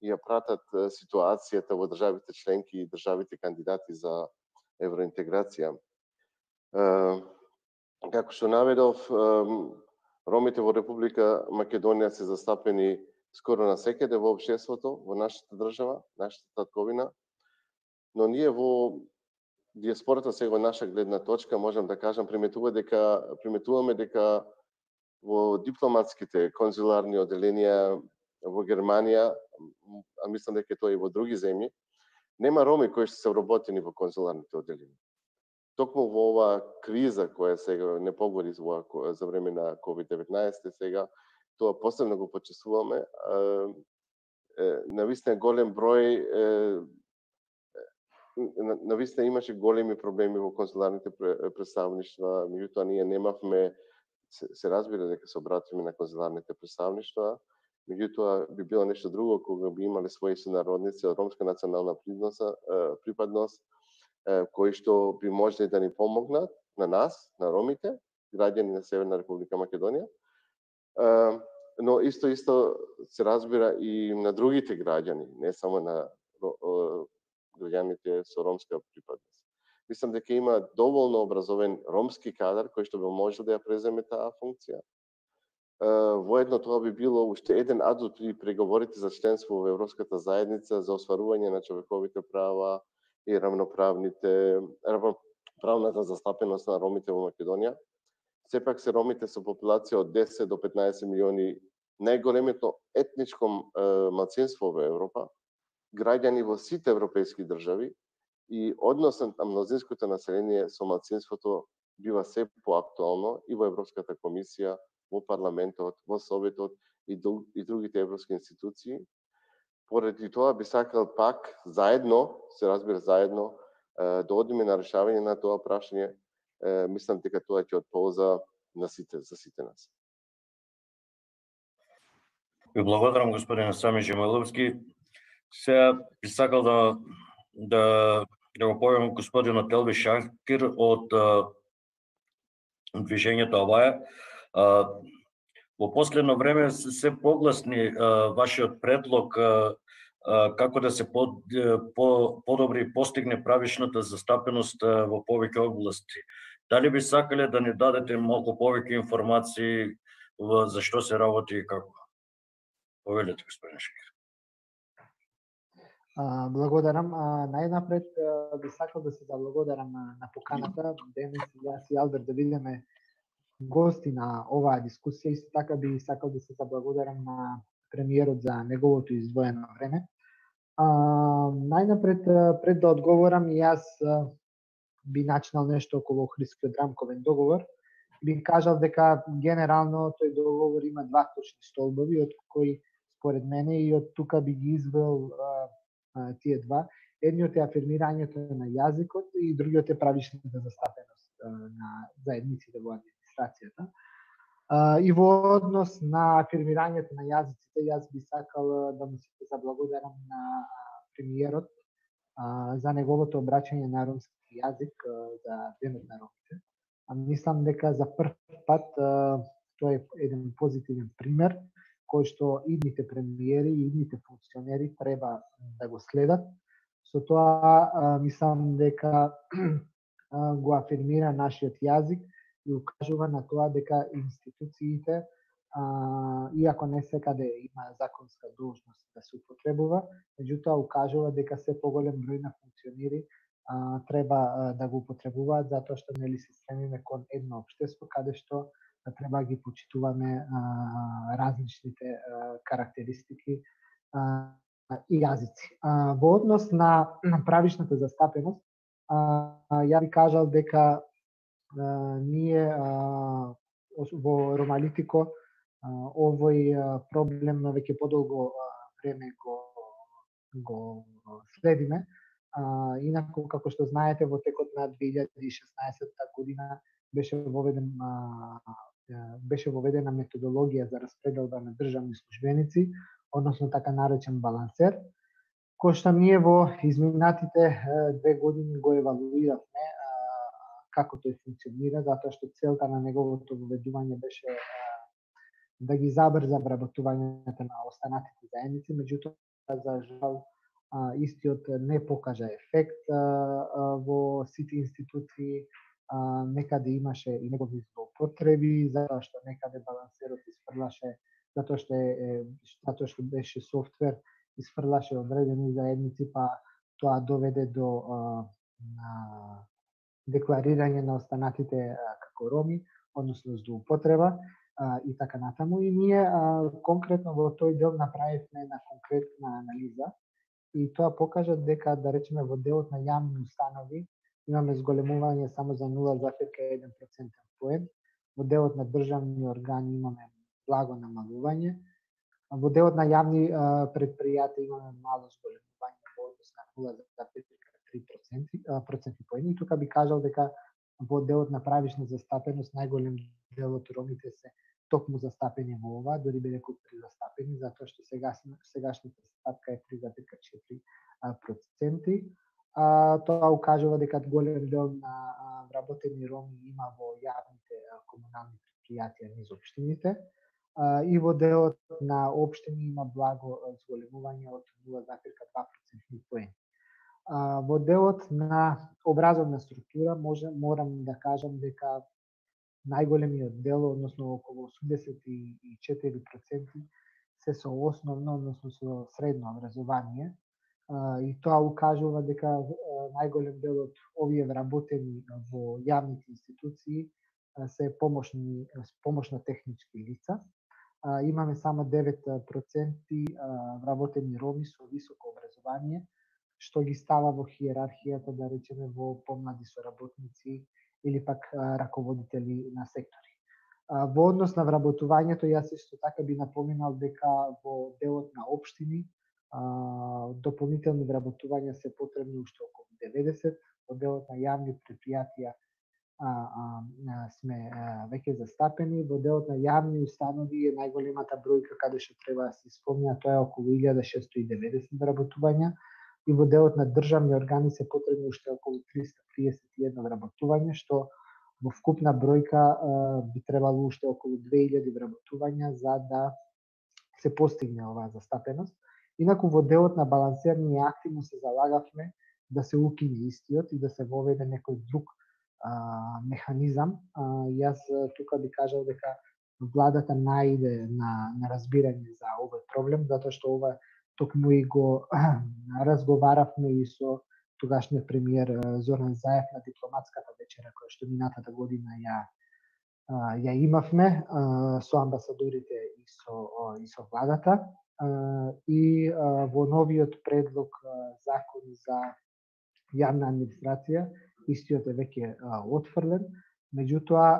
и ја пратат ситуацијата во државите членки и државите кандидати за евроинтеграција. Како што наведов, ромите во Република Македонија се застапени скоро насекаде во општеството, во нашата држава, нашата татковина, но ние во диаспората, сега наша гледна точка, можам да кажам, приметуваме дека во дипломатските конзуларни оделенија во Германија, а мислам дека тоа и во други земји, нема роми кои што се вработени во конзуларните оделенија. Токму во оваа криза која сега не погоди за време на COVID-19 сега, тоа посебно го почувствуваме. Навистина голем број, навистина имаше големи проблеми во консуларните представништва, меѓутоа ние немавме, се разбира дека се обратиме на консуларните представништва, меѓутоа би било нешто друго кога би имале своји сонародници од ромска национална припадност, кои што би можеле да ни помогнат на нас, на ромите, граѓани на Северна Република Македонија, но исто се разбира и на другите граѓани, не само на граѓаните со ромска припадност. Мислам дека има доволно образовен ромски кадар кој што би можел да ја преземе таа функција. Воедно тоа би било уште еден адут при преговорите за членство во Европската заедница за остварување на човековите права и равноправната застапеност на ромите во Македонија. Сепак се ромите со популација од 10 до 15 милиони, најголемото етничко малцинство во Европа, граѓани во сите европейски држави, и односот на мнозинското население со малцинството бива се поактуално и во Европската комисија, во парламентот, во Советот и другите европски институции. Поради тоа би сакал пак заедно, се разбира заедно, да одиме на решавање на тоа прашање. Мислам дека тоа ќе од полза за сите нас. Ви благодарам, господин Сами Жемаловски. Сега би сакал да го појавам господинот Елби Шакир од движењето Аваја. Во последно време се погласни вашиот предлог како да се подобри и постигне правишната застапеност во повеќе области. Дали би сакале да ни дадете малку повеќе информации за што се работи и како? Повелете, господин Шакир. Благодарам. Најнапред би сакал да се заблагодарам на поканата. Денес јас и Алберт да видиме гости на оваа дискусија. Исто така би сакал да се заблагодарам на премиерот за неговото издвоено време. Најнапред, пред да одговорам, јас би начинал нешто околу Охридскиот рамковен договор. Би кажал дека генерално тој договор има два точни столбови, од кои според мене и од тука би ги извел тие два. Едниот е афирмирањето на јазикот и другиот е правишната застапеност на заедниците во администрацијата. И во однос на афирмирањето на јазиците, јас би сакал да му се заблагодарам на премиерот за неговото обраќање на ромски јазик за Денот на ромите. Мислам дека за прв пат тоа е еден позитивен пример кој што идните премиери и идните функционери треба да го следат. Со тоа мислам дека го афирмира нашиот јазик и укажува на тоа дека институциите, иако не секаде има законска должност да се употребува, меѓутоа укажува дека се поголем број на функционери треба да го употребуваат, затоа што нели се стремиме кон едно општество каде што треба да ги почитуваме различните карактеристики и јазици. Во однос на правишната застапеност, ја би кажал дека ние во Ромалитико овој проблем веќе подолго време го следиме. Инаку, како што знаете, во текот на 2016 година беше воведена методологија за распределба на државни службеници, односно така наречен балансер, кој што ние во изминатите 2 години го евалуиравме како тој функционира, затоа што целта на неговото воведување беше да ги забрза вработувањето на останатите заедници, меѓутоа за жал истиот не покажа ефект во сите институции, некаде имаше и негови злоупотреби, затоа што некаде балансерот изфрлаше, затоа што беше софтвер, изфрлаше одредени заедници, па тоа доведе до декларирање на останатите како роми, односно злоупотреба и така натаму. И ние конкретно во тој дел направивме една конкретна анализа и тоа покажа дека, да речеме, во делот на јавни установи имаме зголемување само за 0,1% поен, во делот на државни органи имаме благо намалување. Во делот на јавни предпријатија имаме мало зголемување во однос на 0,3 проценти поени. И тука би кажал дека во делот на правишна застапеност најголем дел од ромите се токму застапени во ова, дори би рекол презастапени, затоа што сегашната стапка е 3,4%. Тоа укажува дека голем дел на вработени роми има во јавните комунални предпријатија низ општините, и во делот на општини има благо зголемување од 0,2% поени. Во делот на образовна структура морам да кажам дека најголемиот дел, односно околу 84% се со основно, односно со средно образование, и тоа укажува дека најголем дел од овие вработени во јавните институции се помошно-технички лица. Имаме само 9% вработени роми со високо образование, што ги става во хиерархијата, да речеме, во помлади соработници или пак раководители на сектори. Во однос на вработувањето, јас исто така би напоминал дека во делот на општини дополнителни вработувања се потребни уште околу 90, во делот на јавни предпријатија сме веќе застапени, во делот на јавни установи е најголемата бројка каде што треба да се спомне, тоа е околу 1690 вработувања, и во делот на државни органи се потребни уште околу 331 вработување, што во вкупна бројка би требало уште околу 2000 вработувања за да се постигне оваа застапеност. Инаку во делот на балансер ние активно се залагавме да се укине истиот и да се воведе некој друг механизам. Јас тука би кажал дека владата најде на разбирање за овој проблем, затоа што ова токму и го разговаравме и со тогашниот премиер Зоран Заев на дипломатската вечера која што минатата година ја имавме со амбасадорите и со владата. И во новиот предлог закон за јавна администрација, истиот е веќе отфрлен, меѓутоа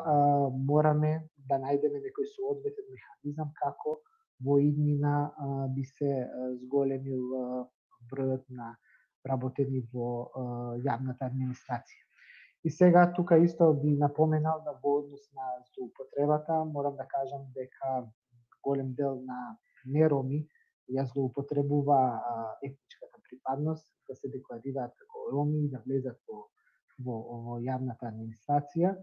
мораме да најдеме некој соодветен механизам како во иднина би се зголемил бројот на работени во јавната администрација. И сега тука исто би напоменал да во однос на злоупотребата, морам да кажам дека голем дел на нероми ја злоупотребува етничката припадност, да се декларираат како роми и да влезат во јавната администрација.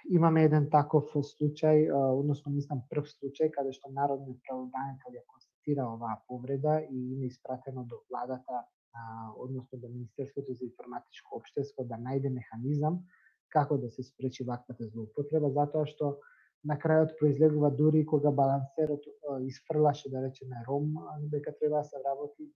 Имаме еден таков случај, односно мислам прв случај, каде што народниот правобранител ја констатира оваа повреда и има испратено до владата, односно до Министерството за информатичко општество да најде механизам како да се спречи ваквата злоупотреба, затоа што на крајот произлегува дури кога балансерот isfрлаше, да речеме, ром, дека треба да се работи,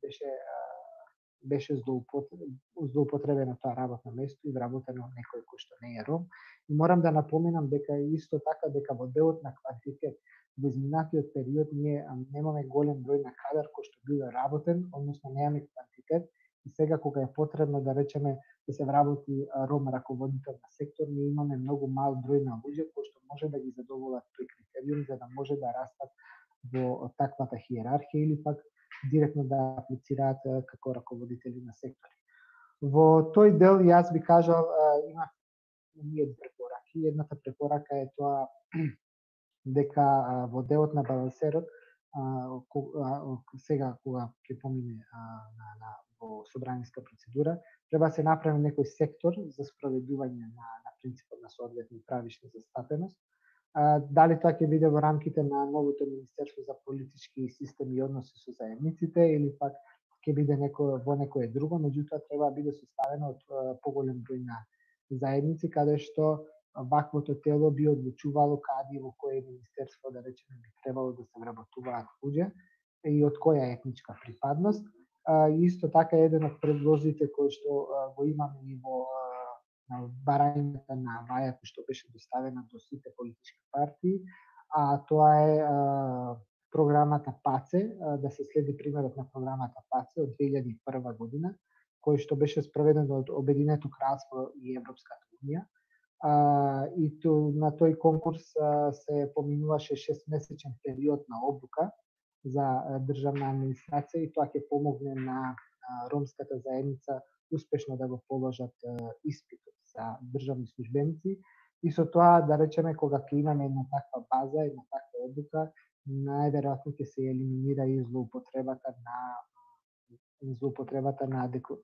беше злоупотребено тоа работно место и вработено некој кој што не е ром. И морам да напоменам дека исто така дека во делот на квантитет во изминатиот период ние немаме голем број на кадар кој што бил работен, односно немаме квантитет, и сега кога е потребно да речеме да се вработи ром раководител на сектор, ние имаме многу мал број на луѓе кои што може да ги задоволат тој критериум за да може да растат во таквата хиерархија или пак директно да аплицираат како раководители на сектори. Во тој дел јас би кажал има ние препораки. Едната препорака е тоа дека во делот на балансерот сега кога ќе помине во собраниска процедура, треба да се направи некој сектор за спроведување на принципот на соодветна правишна застапеност. Дали тоа ќе биде во рамките на новото Министерство за политички системи и односи со заедниците или пак ќе биде во некое друго, меѓутоа треба да биде составено од поголем број на заедници каде што ваквото тело би одлучувало каде и во кое министерство, да речеме, би требало да се вработуваат луѓе и од која етничка припадност. Исто така еден од предлозите кои што го имаме и во барањата на Ваја кој што беше доставена до сите политички партии, тоа е програмата ПАЦЕ, да се следи примерот на програмата ПАЦЕ од 2001 година, кој што беше спроведен од Обединето кралство и Европската унија, и на тој конкурс се поминуваше 6-месечен период на обука за државна администрација и тоа ќе помогне на ромската заедница успешно да го положат испитот за државни службеници. И со тоа, да речеме, кога ќе имаме една таква база, една таква обука, најверојатно ќе се елиминира и злоупотребата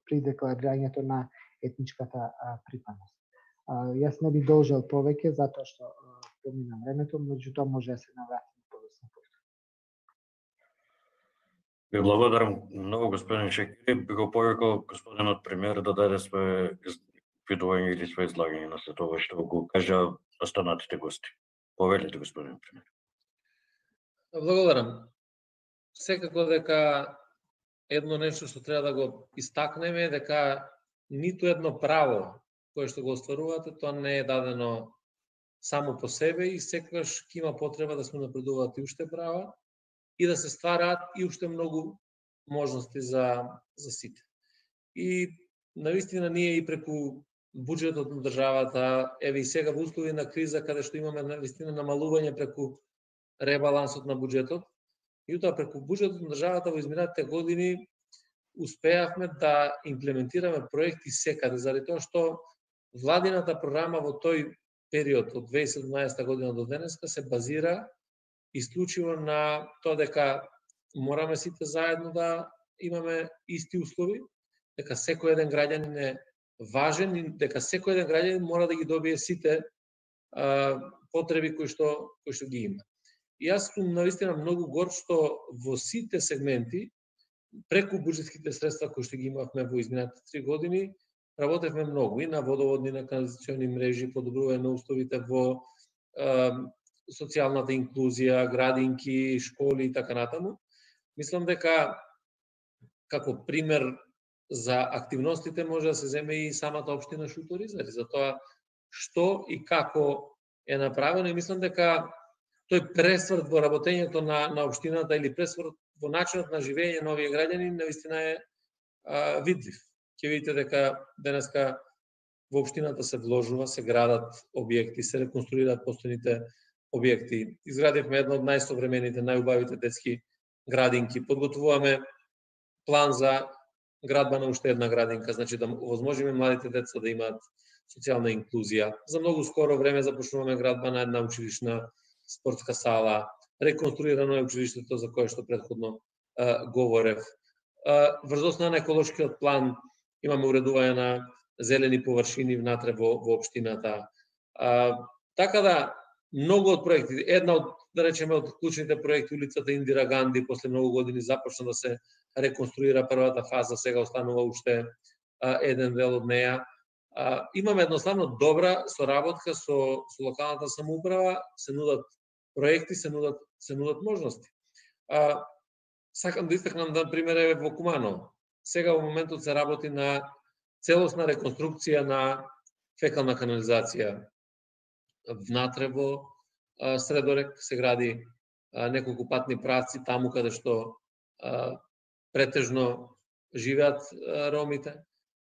при декларирањето на етничката припадност. Јас не би должел повеќе затоа што помина времето, меѓутоа може да се навратиме подоцна повторно. Ви благодарам многу, господин Шекери. Би го повикал господинот премиер да даде свое видување или свое излагање на сето ова што го кажа останатите гости. Повелете, господин премиер. Благодарам. Секако дека едно нешто што треба да го истакнеме е дека ниту едно право кое што го остварувате, тоа не е дадено само по себе и секогаш ќе има потреба да сме напредуваат и уште права и да се ствараат и уште многу можности за сите. И навистина ние и преку буџетот на државата, еве и сега во услови на криза каде што имаме навистина намалување преку ребалансот на буџетот, и тоа преку буџетот на државата во изминатите години успеавме да имплементираме проекти секаде, заради тоа што владината програма во тој период од 2017 година до денеска се базира исклучиво на тоа дека мораме сите заедно да имаме исти услови, дека секој еден граѓанин е важен и дека секој еден граѓанин мора да ги добие сите потреби кои што ги има. И јас сум навистина многу горд што во сите сегменти преку буџетските средства кои што ги имавме во изминатите 3 години работевме многу и на водоводни, на канализациони мрежи, подобрување на условите во социјалната инклузија, градинки, школи и така натаму. Мислам дека како пример за активностите може да се земе и самата општина Шуторизари, за тоа што и како е направено, и мислам дека тој пресврт во работењето на општината или пресврт во начинот на живење на овие граѓани навистина е видлив. Ќе видите дека денеска во општината се вложува, се градат објекти, се реконструираат постојните објекти. Изградивме една од најсовремените, најубавите детски градинки. Подготвуваме план за градба на уште една градинка, значи да овозможиме младите деца да имаат социјална инклузија. За многу скоро време започнуваме градба на една училишна спортска сала, реконструирано е училиштето за кое што претходно говорев. Врз основа на еколошкиот план имаме уредување на зелени површини внатре во општината. Така да, многу од проекти, една од, да речеме, од клучните проекти, улицата Индира Ганди, после многу години започна да се реконструира првата фаза, сега останува уште еден дел од неја. Имаме едноставно добра соработка со локалната самоуправа, се нудат проекти, се нудат можности. Сакам да истакнам, например, во Куманово. Сега во моментот се работи на целосна реконструкција на фекална канализација. Внатре во Средорек се гради неколку патни правци таму каде што претежно живеат ромите.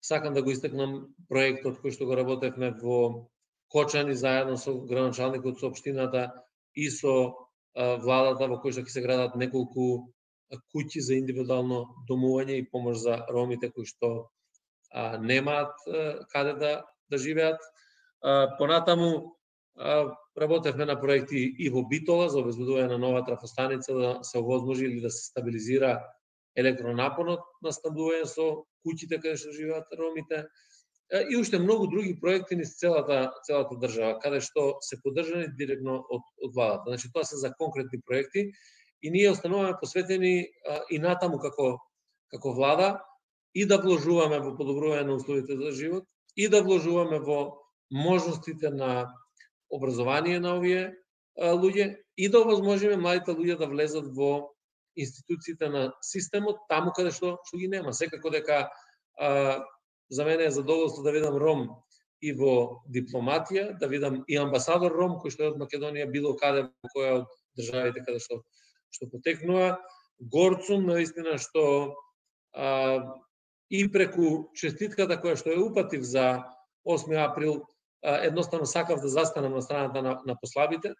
Сакам да го истакнам проектот кој што го работевме во Кочани заедно со градоначалникот, со општината и со владата, во кој што ќе се градат неколку куќи за индивидуално домување и помош за ромите кои што немаат каде да живеат. Понатаму работевме на проекти и во Битола за обезбедување на нова трафостаница да се овозможи или да се стабилизира електронапонот на снабдување со куќите каде што живеат ромите. И уште многу други проекти низ целата држава, каде што се поддржани директно од владата. Значи, тоа се за конкретни проекти и ние остануваме посветени и натаму како влада и да вложуваме во подобрување на условите за живот и да вложуваме во можностите на образование на овие луѓе и да овозможиме младите луѓе да влезат во институциите на системот таму каде што ги нема. Секако дека за мене е задоволство да видам ром и во дипломатија, да видам и амбасадор ром кој што е од Македонија било каде во која од државите каде што потекнува. Горд сум наистина што и преку честитката која што ја упатив за 8 април едноставно сакав да застанам на страната на послабите.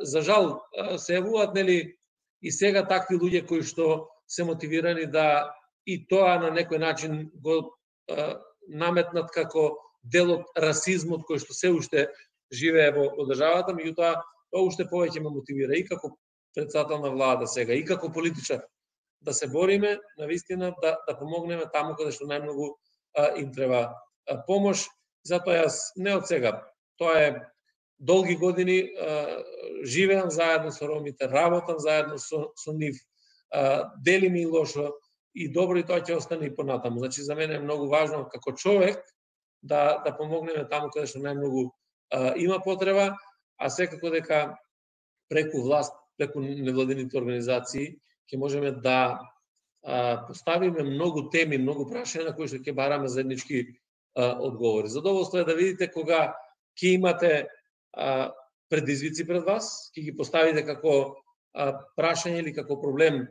За жал се јавуваат нели и сега такви луѓе кои што се мотивирани да и тоа на некој начин го наметнат како дел од расизмот кој што се уште живее во државата, меѓутоа тоа уште повеќе ме мотивира и како председател на влада сега и како политичар да се бориме навистина да помогнеме таму каде што најмногу им треба помош. Затоа јас не од сега, тоа е долги години живеам заедно со ромите, работам заедно со нив, делим и лошо и добро, и тоа ќе остане и понатаму. Значи за мене е многу важно како човек да помогнеме таму каде што најмногу има потреба, а секако дека преку власт, преку невладините организации ќе можеме да поставиме многу теми, многу прашања на кои што ќе бараме заеднички одговори. Задоволство е да видите кога ќе имате предизвици пред вас, ќе ги поставите како прашање или како проблем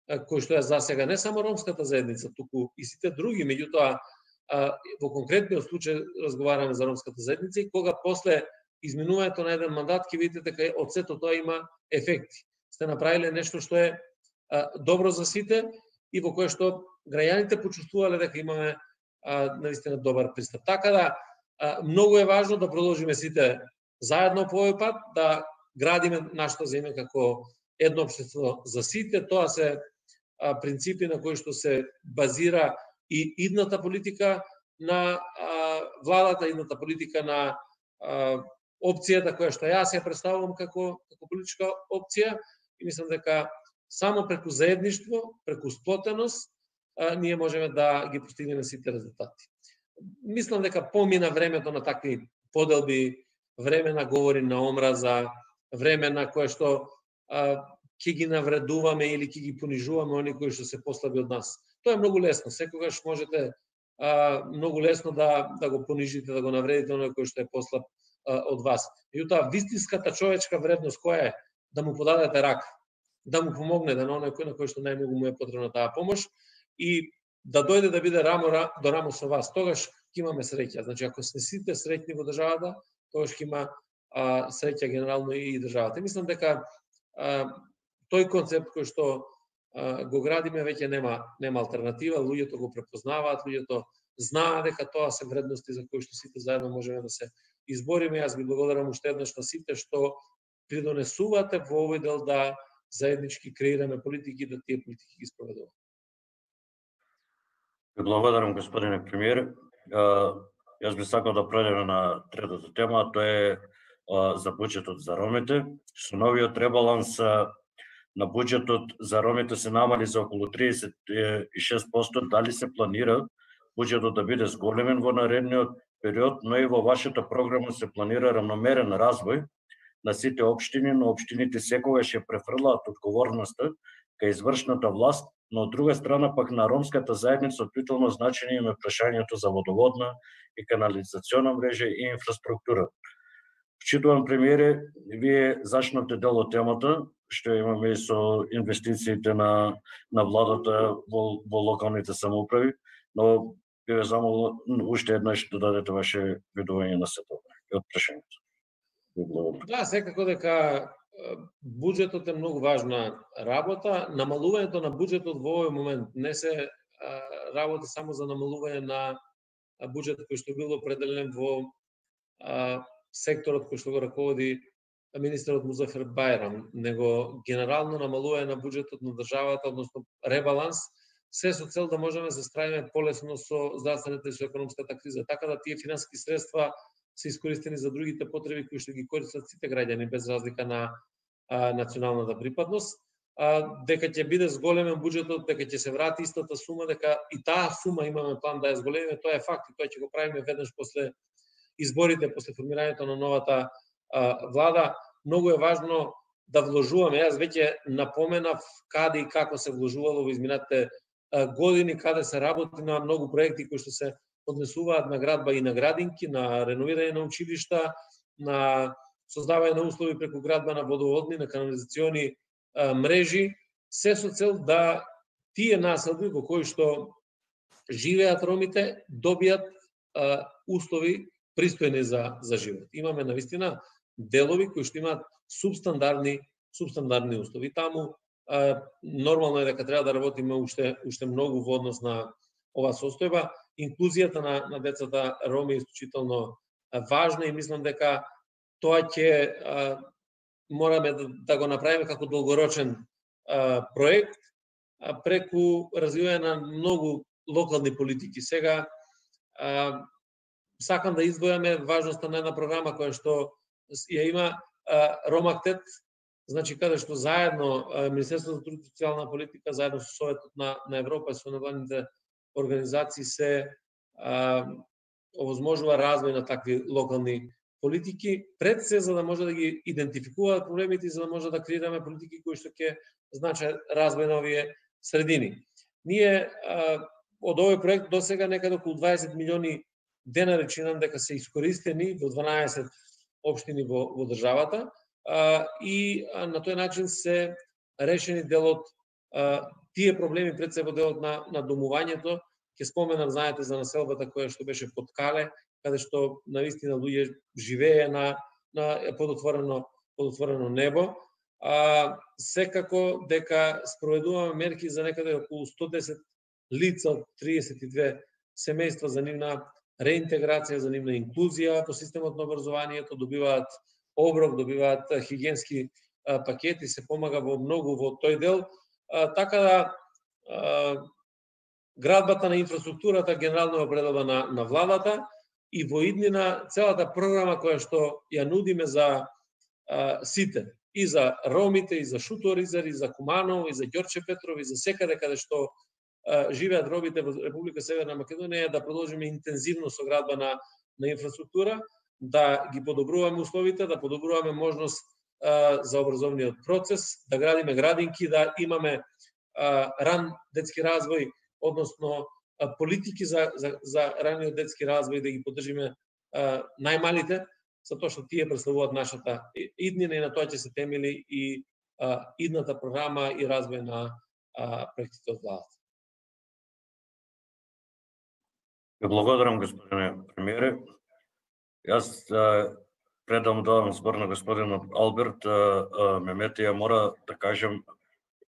кој што е засега не само ромската заедница, туку и сите други, меѓутоа во конкретниот случај разговараме за ромската заедница и кога после изминувањето на еден мандат ќе видите дека од сето тоа има ефекти. Сте направиле нешто што е добро за сите и во кое што граѓаните почувствувале дека имаме наистина добар пристап. Така да многу е важно да продолжиме сите заедно по овој пат, да градиме нашето земја како едно општество за сите. Тоа се принципи на кои што се базира и идната политика на владата, идната политика на опцијата која што јас ја представувам како политичка опција, и мислам дека само преку заедништво, преку сплотеност, ние можеме да ги постигнеме сите резултати. Мислам дека помина времето на такви поделби, време на говори на омраза, време на кое што ќе ги навредуваме или ќе ги понижуваме оние кои што се послаби од нас. Тоа е многу лесно. Секогаш можете многу лесно да го понижите, да го навредите оној кој што е послаб од вас. Меѓутоа, вистинската човечка вредност која е? Да му подадете рака, да му помогнете на оној на кој што најмногу му е потребна таа помош и да дојде да биде рамо до рамо со вас. Тогаш ќе имаме среќа. Значи, ако сте сите среќни во државата, тогаш ќе има среќа генерално и државата. Мислам дека тој концепт кој што го градиме веќе нема алтернатива, луѓето го препознаваат, луѓето знаат дека тоа се вредности за кои што сите заедно можеме да се избориме. Јас ги благодарам уште еднаш на сите што придонесувате во овој дел да заеднички креираме политики и да тие политики ги спроведуваме. Благодарам, господине премиер. Јас би сакал да преđеме на третата тема, тоа е за буџетот за ромите. Со новиот ребаланс на буџетот за ромите се намали за околу 36%. Дали се планира буџетот да биде зголемен во наредниот период, но и во вашата програма се планира рамномерен развој на сите општини, но општините секогаш ја префрлаат одговорноста кај извршната власт, но од друга страна пак на ромската заедница од витално значење има прашањето за водоводна и канализациона мрежа и инфраструктура. Вчитувам, премиере, вие зачнавте дел од темата, што имаме и со инвестициите на владата во локалните самоуправи, но би ве замолил уште еднаш да дадете ваше видување на сето и од прашањето. Да, секако дека буџетот е многу важна работа. Намалувањето на буџетот во овој момент не се работа само за намалување на буџет кој што бил определен во секторот кој што го раководи министерот Музафер Бајрам, него генерално намалување на буџетот на државата, односно ребаланс, се со цел да можеме да се справиме полесно со здравствената и со економската криза. Така да тие финансиски средства се искористени за другите потреби кои што ги користат сите граѓани без разлика на националната припадност. Дека ќе биде зголемен буџетот, дека ќе се врати истата сума, дека и таа сума имаме план да ја зголемиме, тоа е факт и тоа ќе го правиме веднаш после изборите, после формирањето на новата влада. Многу е важно да вложуваме. Јас веќе напоменав каде и како се вложувало во изминатите години, каде се работи на многу проекти кои што се однесуваат на градба и на градинки, на реновирање на училишта, на создавање на услови преку градба на водоводни, на канализациони мрежи, се со цел да тие населби во кои што живеат ромите добијат услови пристојни за живот. Имаме навистина делови кои што имаат субстандардни услови. Таму нормално е дека треба да работиме уште многу во однос на оваа состојба. Инклузијата на децата роми е исклучително важна и мислам дека тоа ќе мораме да го направиме како долгорочен проект преку развивање на многу локални политики. Сега сакам да издвојаме важноста на една програма која што ја има Ромактет, значи каде што заедно Министерството за труд и социјална политика заедно со Советот на Европа и со невладините организации се овозможува развој на такви локални политики, пред се за да може да ги идентификуваат проблемите и за да може да креираме политики кои што ќе значат развој на овие средини. Ние од овој проект до сега некаде околу 20 милиони денари чинам дека се искористени во 12 општини во државата и на тој начин се решени дел од тие проблеми пред се во делот на домувањето. Ќе споменам, знаете, за населбата која што беше под Кале, каде што навистина луѓе живее на подотворено небо. Секако дека спроведуваме мерки за некаде околу 110 лица од 32 семејства за нивна реинтеграција, за нивна инклузија по системот на образованието, добиваат оброк, добиваат хигиенски пакети, се помага во многу во тој дел. Така да градбата на инфраструктурата генерално е определба на владата и во иднина целата програма која што ја нудиме за сите, и за ромите, и за Шуторизар, и за Куманово, и за Ѓорче Петров, и за секаде каде што живеат ромите во Република Северна Македонија, да продолжиме интензивно со градба на инфраструктура, да ги подобруваме условите, да подобруваме можност за образовниот процес, да градиме градинки, да имаме ран детски развој, односно политики за раниот детски развој, да ги поддржиме најмалите, затоа што тие представуваат нашата иднина и на тоа ќе се темели и идната програма и развој на проектите од владата. Благодарам, господине премиере. Јас предам давам збор на господинот Алберт Мемети. Ја мора да кажем,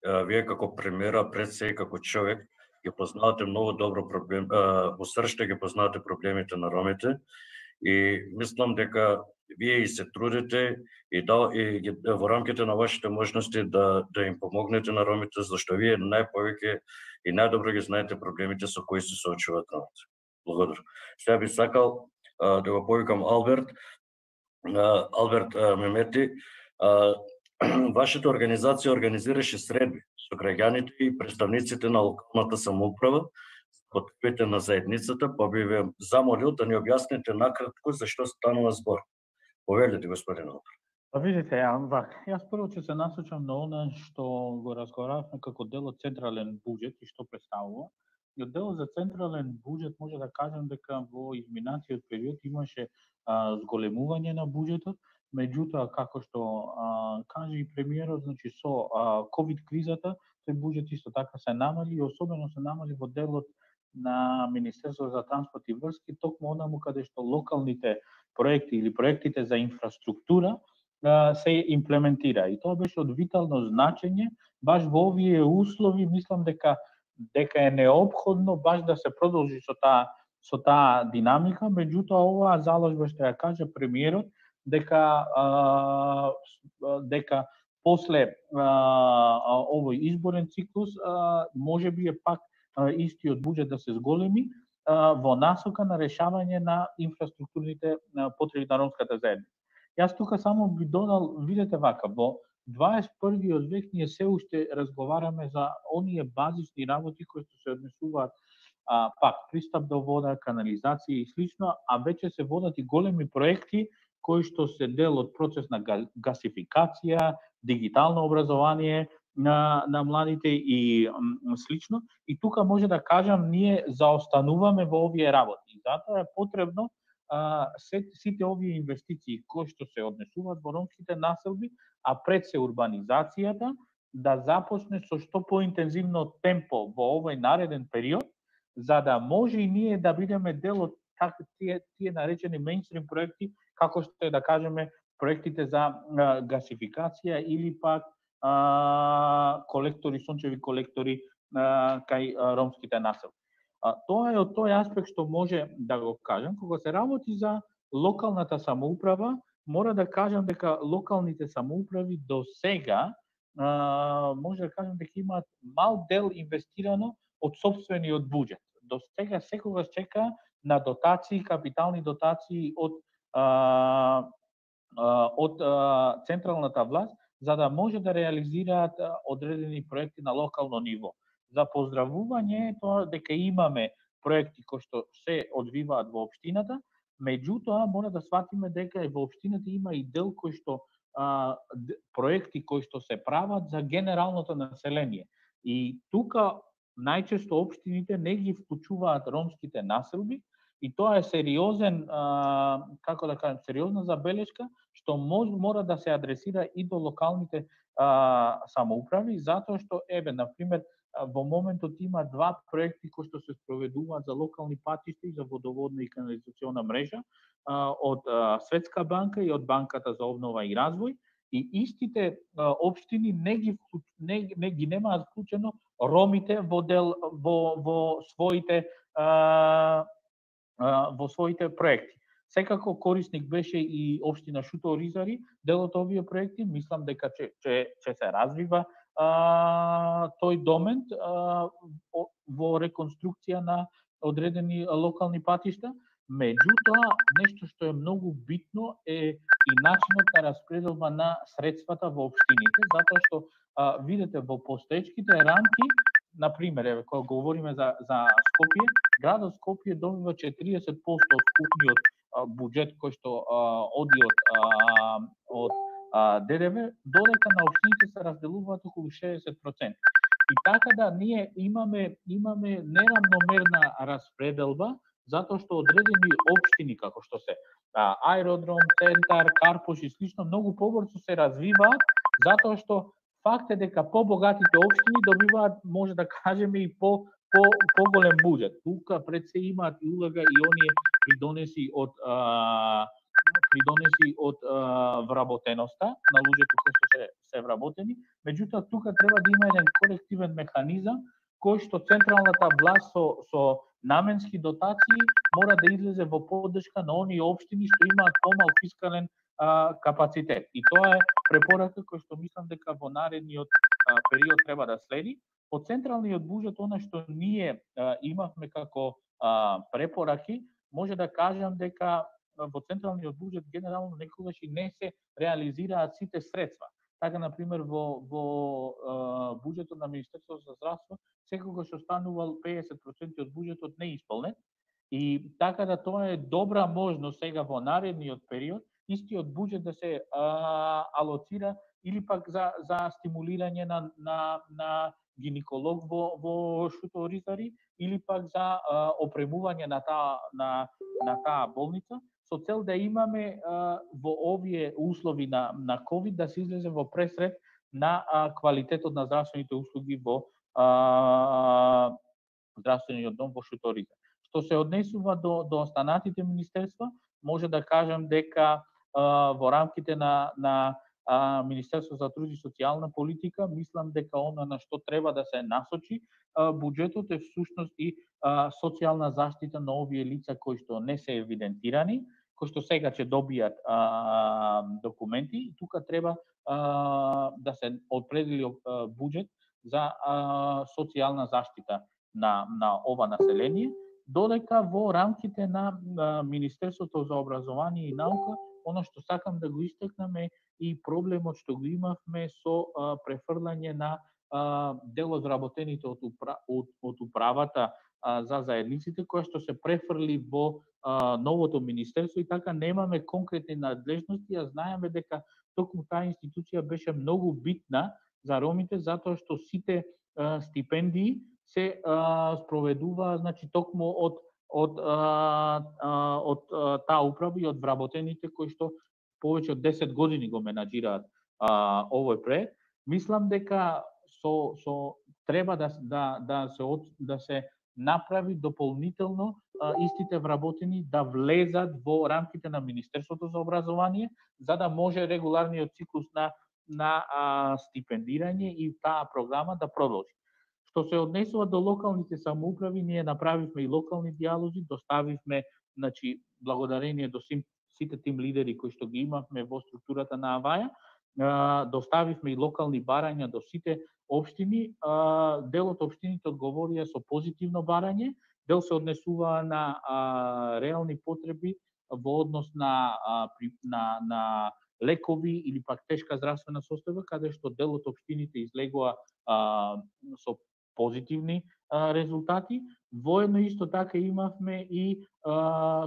вие како премиера, пред се и како човек, ги познавате многу добро проблем, во срште ги познавате проблемите на ромите и мислам дека вие и се трудите и во рамките на вашите можности да им помогнете на ромите, зашто вие најповеќе и најдобро ги знаете проблемите со кои се соочуваат ромите. Благодарам. Сега би сакал да го повикам Алберт Мемети. Вашата организација организираше средби со граѓаните и представниците на локалната самоуправа за потребите на заедницата, па би ве замолил да ни објасните накратко за што станува збор. Повелете, господин Алберт. Видите, јас прво ќе се насочам на она што го разговаравме како дел од централен буџет и што представува. И од делот за централен буџет може да кажем дека во изминатиот период имаше зголемување на буџетот, меѓутоа како што кажа и премиерот, значи со ковид кризата тој буџет исто така се намали и особено се намали во делот на Министерството за транспорт и врски, токму онаму каде што локалните проекти или проектите за инфраструктура се имплементира. И тоа беше од витално значење, баш во овие услови, мислам дека е неопходно баш да се продолжи со таа динамика, меѓутоа оваа заложба што ја кажа премиерот, дека после овој изборен циклус можеби е пак истиот буџет да се зголеми во насока на решавање на инфраструктурните потреби на ромската заедница. Јас тука само би додал, видете вака, во 21. век ние се уште разговараме за оние базисни работи кои се однесуваат пак пристап до вода, канализација и слично, а веќе се водат и големи проекти кои што се дел од процес на гасификација, дигитално образование на младите и слично. И тука може да кажам, ние заостануваме во овие работи. Затоа е потребно сите овие инвестиции кои што се однесуваат во ромските населби, а пред се урбанизацијата, да започне со што поинтензивно темпо во овој нареден период, за да може и ние да бидеме дел од тие наречени мејнстрим проекти, како што е да кажеме проектите за гасификација или пак колектори, сончеви колектори кај ромските населби. Тоа е од тој аспект што може да го кажам. Кога се работи за локалната самоуправа, мора да кажам дека локалните самоуправи до сега може да кажам дека имаат мал дел инвестирано од сопствениот буџет. До сега секогаш чека на дотации, капитални дотации од централната власт, за да може да реализираат одредени проекти на локално ниво. За поздравување тоа дека имаме проекти кои што се одвиваат во општината, меѓутоа мора да сватиме дека и во општината има и дел кои што проекти кои што се прават за генералното население. И тука најчесто општините не ги вклучуваат ромските населби, и тоа е сериозен, како да кажем, сериозна забелешка, што мора да се адресира и до локалните самоуправи, затоа што, например, во моментот има 2 проекти кои што се спроведуваат за локални патишта и за водоводна и канализациона мрежа од Светска банка и од Банката за обнова и развој, и истите општини не ги немаат вклучено ромите во своите проекти. Секако корисник беше и општина Шуто Оризари, дел од овие проекти. Мислам дека ќе се развива тој домент во реконструкција на одредени локални патишта. Меѓутоа, нешто што е многу битно е и начинот на распределба на средствата во општините, затоа што видите во постоечките рамки, например, кога говориме за Скопје, градот Скопје добива 40% од вкупниот буџет кој што оди од ДДВ, додека на општините се разделуваат околу 60%. И така да ние имаме неравномерна распределба, затоа што одредени општини како што се Аеродром, Центар, Карпош и слично многу побрзо се развиваат, затоа што факт е дека побогатите општини добиваат, може да кажеме, и поголем буџет. Тука пред се имаат и улога и оние придонеси од вработеноста на луѓето кои што се вработени, меѓутоа тука треба да има еден корективен механизам кој што централната власт со наменски дотации мора да излезе во поддршка на оние општини што имаат помал фискален капацитет. И тоа е препорака која што мислам дека во наредниот период треба да следи. Од централниот буџет, она што ние имавме како препораки, може да кажам дека во централниот буџет генерално некогаш и не се реализираат сите средства. Така, например, во буџетот на Министерството за здравство секогаш останувал 50% од буџетот неисполнет, и така да тоа е добра можност сега во наредниот период истиот буџет да се алоцира или пак за стимулирање на гинеколог во Шуто Оризари, или пак за опремување на таа болница, со цел да имаме во овие услови на ковид да се излезе во пресред на квалитетот на здравствените услуги во здравствениот дом во Шуто Оризари. Што се однесува до останатите министерства, може да кажам дека во рамките на Министерство за труд и социјална политика, мислам дека она на што треба да се насочи буџетот е всушност и социјална заштита на овие лица кои што не се евидентирани, кои што сега ќе добијат документи. Тука треба да се определи буџет за социјална заштита на ова население, додека во рамките на Министерството за образование и наука, оно што сакам да го истакнам е и проблемот што го имавме со префрлање на дел од вработените од управата за заедниците, која што се префрли во новото министерство, и така немаме конкретни надлежности, а знаеме дека токму таа институција беше многу битна за ромите, затоа што сите стипендии се спроведува, значи, токму од таа управа и од вработените кои што повеќе од 10 години го менаџираат овој проект. Мислам дека треба да се направи дополнително истите вработени да влезат во рамките на Министерството за образование, за да може регуларниот циклус на стипендирање и таа програма да продолжи. Што се однесува до локалните самоуправи, ние направивме и локални диалози, доставивме, значи, благодарение до сите тим лидери кои што ги имавме во структурата на Аваја, доставивме и локални барања до сите општини. Дел од општините одговорија со позитивно барање, дел се однесува на реални потреби во однос на лекови или пак тешка здравствена состојба, каде што дел од општините излегува со позитивни резултати. Воедно исто така имавме и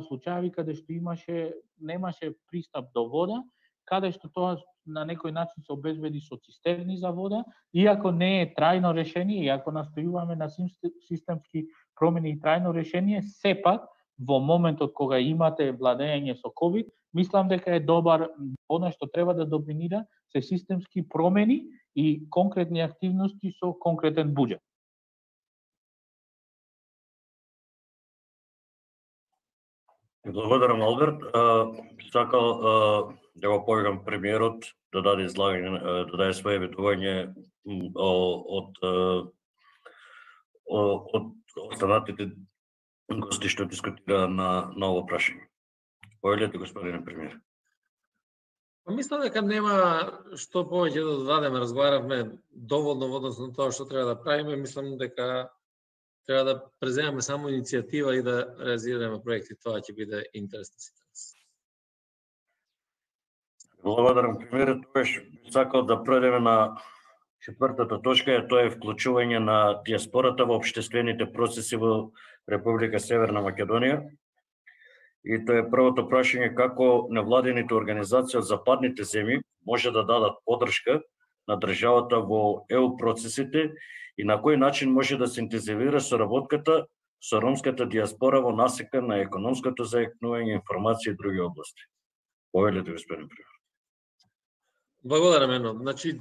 случаи каде што немаше пристап до вода, каде што тоа на некој начин се обезбеди со цистерни за вода, иако не е трајно решение, иако настојуваме на системски промени и трајно решение, сепак во моментот кога имате владење со COVID, мислам дека е добар, она што треба да доминира се системски промени и конкретни активности со конкретен буџет. Благодарам, Алберт. Сакал да го повикам премиерот да даде излагање, да даде своје ветување од останатите гости што дискутира на ово прашање. Повелете, господине премиер. Мислам дека нема што повеќе да додадеме, разговаравме доволно во однос на тоа што треба да правиме, мислам дека треба да преземеме само иницијатива и да реализираме проекти, тоа ќе биде интерес на сите нас. Благодарам, премиерот. Тогаш сакал да пројдеме на четвртата точка, тоа е вклучување на диаспората во општествените процеси во Република Северна Македонија. И тоа е првото прашање, како невладените организации од западните земји може да дадат поддршка на државата во ЕУ процесите и на кој начин може да се интензивира соработката со ромската диаспора во насека на економското заеднување, информација и други области. Повелете, господин премиер. Благодарам, Ено. Значи,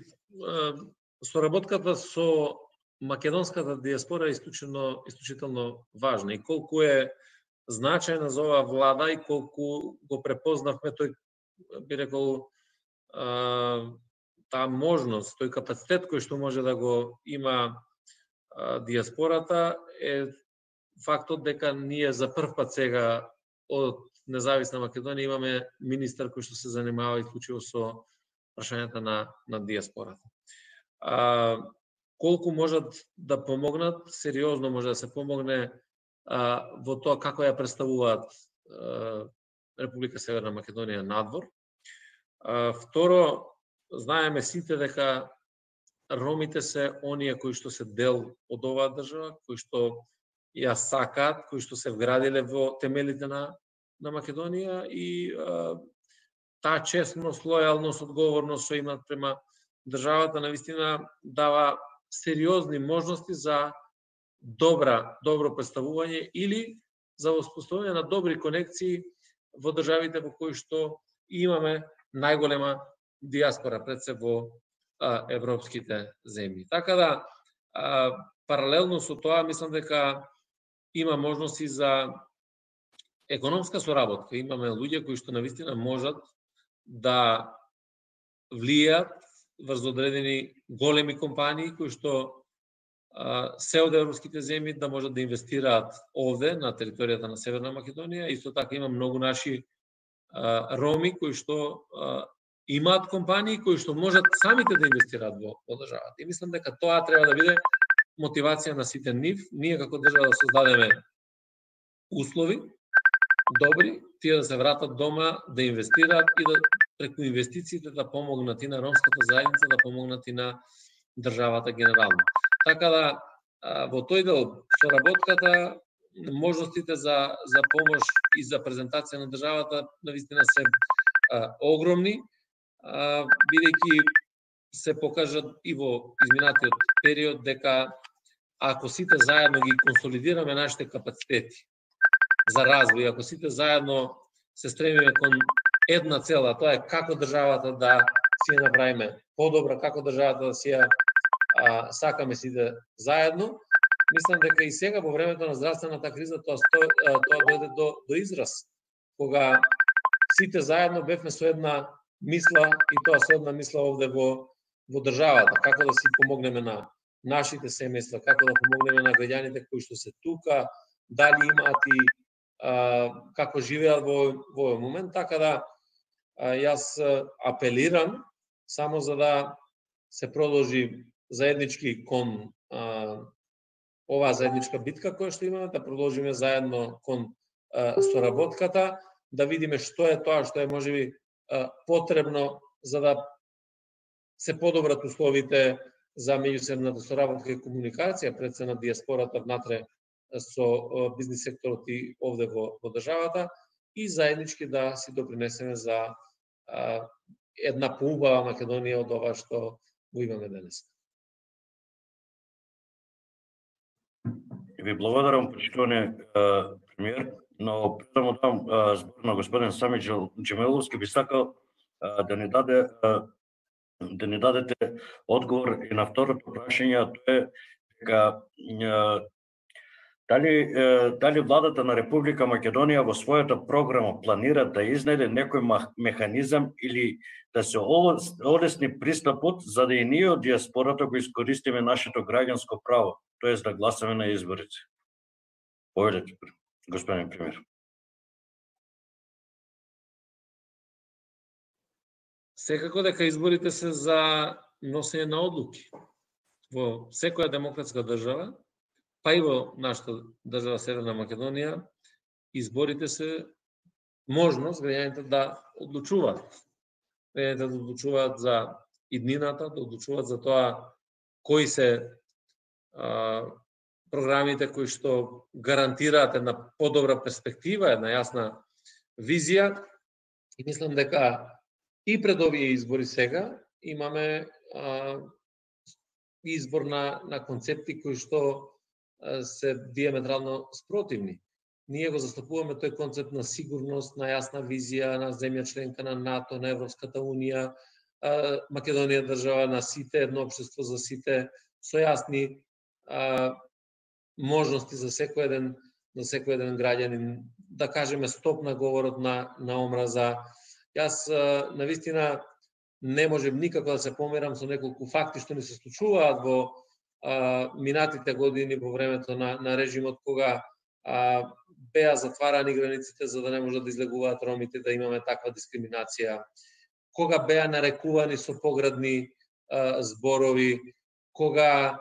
соработката со македонската диаспора е исклучително важна и колку е значајна за оваа влада и колку го препознавме тој, би рекол, таа можност, тој капацитет кој што може да го има диаспората е фактот дека ние за прв пат сега од Независна Македонија имаме министар кој што се занимава исклучиво со прашањата на диаспората. Колку можат да помогнат, сериозно може да се помогне во тоа како ја представуваат Република Северна Македонија надвор. Второ, знаеме сите дека ромите се оние кои што се дел од оваа држава, кои што ја сакаат, кои што се вградиле во темелите на Македонија и таа честност, лојалност, одговорност што имаат према државата навистина дава сериозни можности за добро представување или за воспоставување на добри конекции во државите во кои што имаме најголема диаспора пред се во европските земји. Така да, паралелно со тоа, мислам дека има можности за економска соработка. Имаме луѓе кои што навистина можат да влијат врз одредени големи компании кои што се од европските земји да можат да инвестираат овде на територијата на Северна Македонија. Исто така има многу наши роми кои што имаат компании кои што можат самите да инвестираат во државата. И мислам дека тоа треба да биде мотивација на сите нив. Ние како држава да создадеме услови добри, тие да се вратат дома, да инвестираат и да преку инвестициите да помогнат и на ромската заедница, да помогнат и на државата генерално. Така да, во тој дел, соработката, можностите за помош и за презентација на државата навистина се огромни, бидејќи се покажат и во изминатиот период дека ако сите заедно ги консолидираме нашите капацитети за развој, ако сите заедно се стремиме кон една цела, тоа е како државата да си ја направиме подобра, како државата да си ја сакаме сите заедно, мислам дека и сега во времето на здравствената криза тоа дојде до израз, кога сите заедно бевме со една мисла, и тоа со една мисла овде во државата, како да си помогнеме на нашите семејства, како да помогнеме на граѓаните кои што се тука, дали имаат и како живеат во овој момент, така да јас апелирам само за да се продолжи заеднички кон оваа заедничка битка која што имаме, да продолжиме заедно кон соработката, да видиме што е тоа што е можеби потребно за да се подобрат условите за меѓусебната соработка и комуникација пред се на диаспората внатре со бизнис секторот и овде во државата, и заеднички да си допринесеме за една поубава Македонија од ова што го имаме денес. Ви благодарам, почитувани премиер, но пред да му дам збор на господин Сами Џемиловски, би сакал да ни дадете одговор и на второто прашање, а тоа е дека дали владата на Република Македонија во својата програма планира да изнајде некој механизам или да се олесни пристапот за да и ние од диаспората го искористиме нашето граѓанско право, тоест да гласаме на изборите? Повелете, господин премиер. Секако дека изборите се за носење на одлуки. Во секоја демократска држава, па и во нашата држава Северна Македонија, изборите се можност граѓаните да одлучуваат. Граѓаните да одлучуваат за иднината, да одлучуваат за тоа кои се програмите кои што гарантираат една подобра перспектива, една јасна визија. И мислам дека и пред овие избори сега имаме избор на концепти кои што се диаметрално спротивни. Ние го застапуваме тој концепт на сигурност, на јасна визија, на земја членка на НАТО, на Европската унија, Македонија држава на сите, едно општество за сите, со јасни можности за секој еден граѓанин, да кажеме стоп на говорот на омраза. Јас навистина не можем никако да се померам со неколку факти што ни се случуваат во минатите години во времето на режимот, кога беа затварани границите за да не можат да излегуваат ромите, да имаме таква дискриминација, кога беа нарекувани со поградни зборови, кога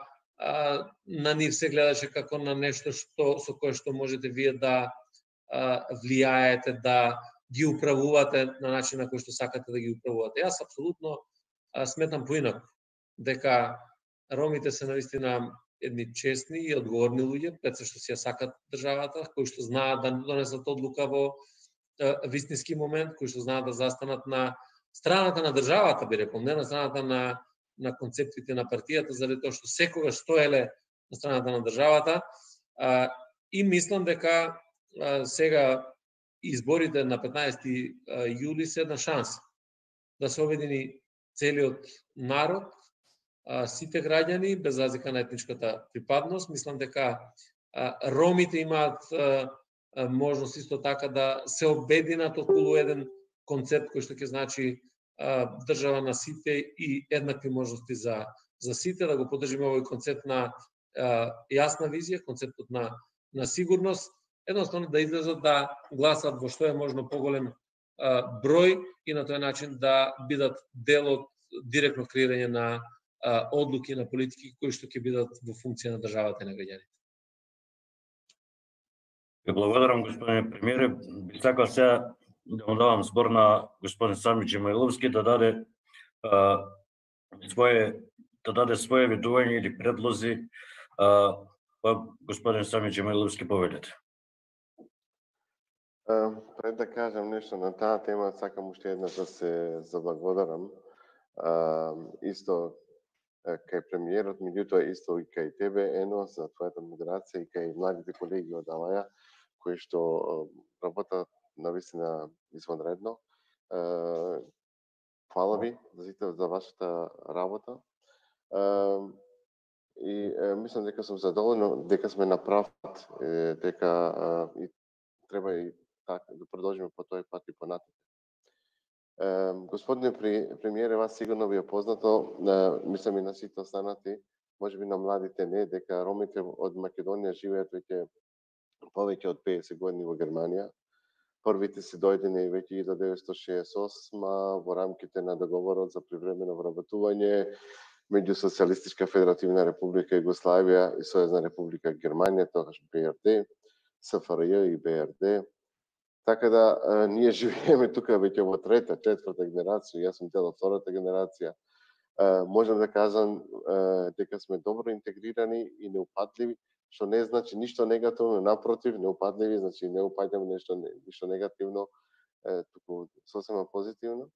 на нив се гледаше како на нешто со кое што можете вие да влијаете, да ги управувате на начин на кој што сакате да ги управувате. Јас апсолутно сметам поинаку, дека ромите се навистина едни честни и одговорни луѓе, пред се што си ја сакат државата, кои што знаат да донесат одлука во вистински момент, кои што знаат да застанат на страната на државата, би рекол, не на страната на концептите на партијата, заради тоа што секогаш стоеле на страната на државата. И мислам дека сега изборите на 15 јули се една шанса да се обедини целиот народ, сите граѓани, без разлика на етничката припадност. Мислам дека ромите имаат можност исто така да се обединат околу еден концепт кој што ќе значи држава на сите и еднакви можности за сите, да го поддржиме овој концепт на јасна визија, концептот на сигурност, едноставно да излезат да гласат во што е можно поголем број и на тој начин да бидат дел од директно креирање на одлуки на политики кои што ќе бидат во функција на државата и на граѓаните. Ви благодарам, господин премиере. Би сакал сега да му давам збор на господин Сами Џемиловски да даде своje видување или предлози. Господин Сами Џемиловски, повелете. Пред да кажам нешто на таа тема, сакам уште еднаш да се заблагодарам. Исто кај премиерот, меѓутоа исто и кај тебе, Ено, за твојата модерација и кај младите колеги од Алаја, кои што работат навистина извонредно. Фала ви за вашата работа. и мислам дека сум задоволен дека сме на прав пат, дека и треба и така да продолжиме по тој пат и понатаму. Господине премиере, вас сигурно ви е познато, мислам и на сите останати, можеби на младите не, дека ромите од Македонија живеат веќе повеќе од 50 години во Германија. Првите се дојдени веќе 1968 во рамките на договорот за привремено вработување меѓу Социјалистичка Федеративна Република Југославија и Сојузна Република Германија, тогаш БРД, СФРЈ и БРД. Така да ние живееме тука веќе во трета, четврта генерација, јас сум дел од втората генерација. Можам да кажам дека сме добро интегрирани и неупадливи, што не значи ништо негативно, напротив, неупадливи, значи не упаѓаме ништо негативно, туку сосема позитивно.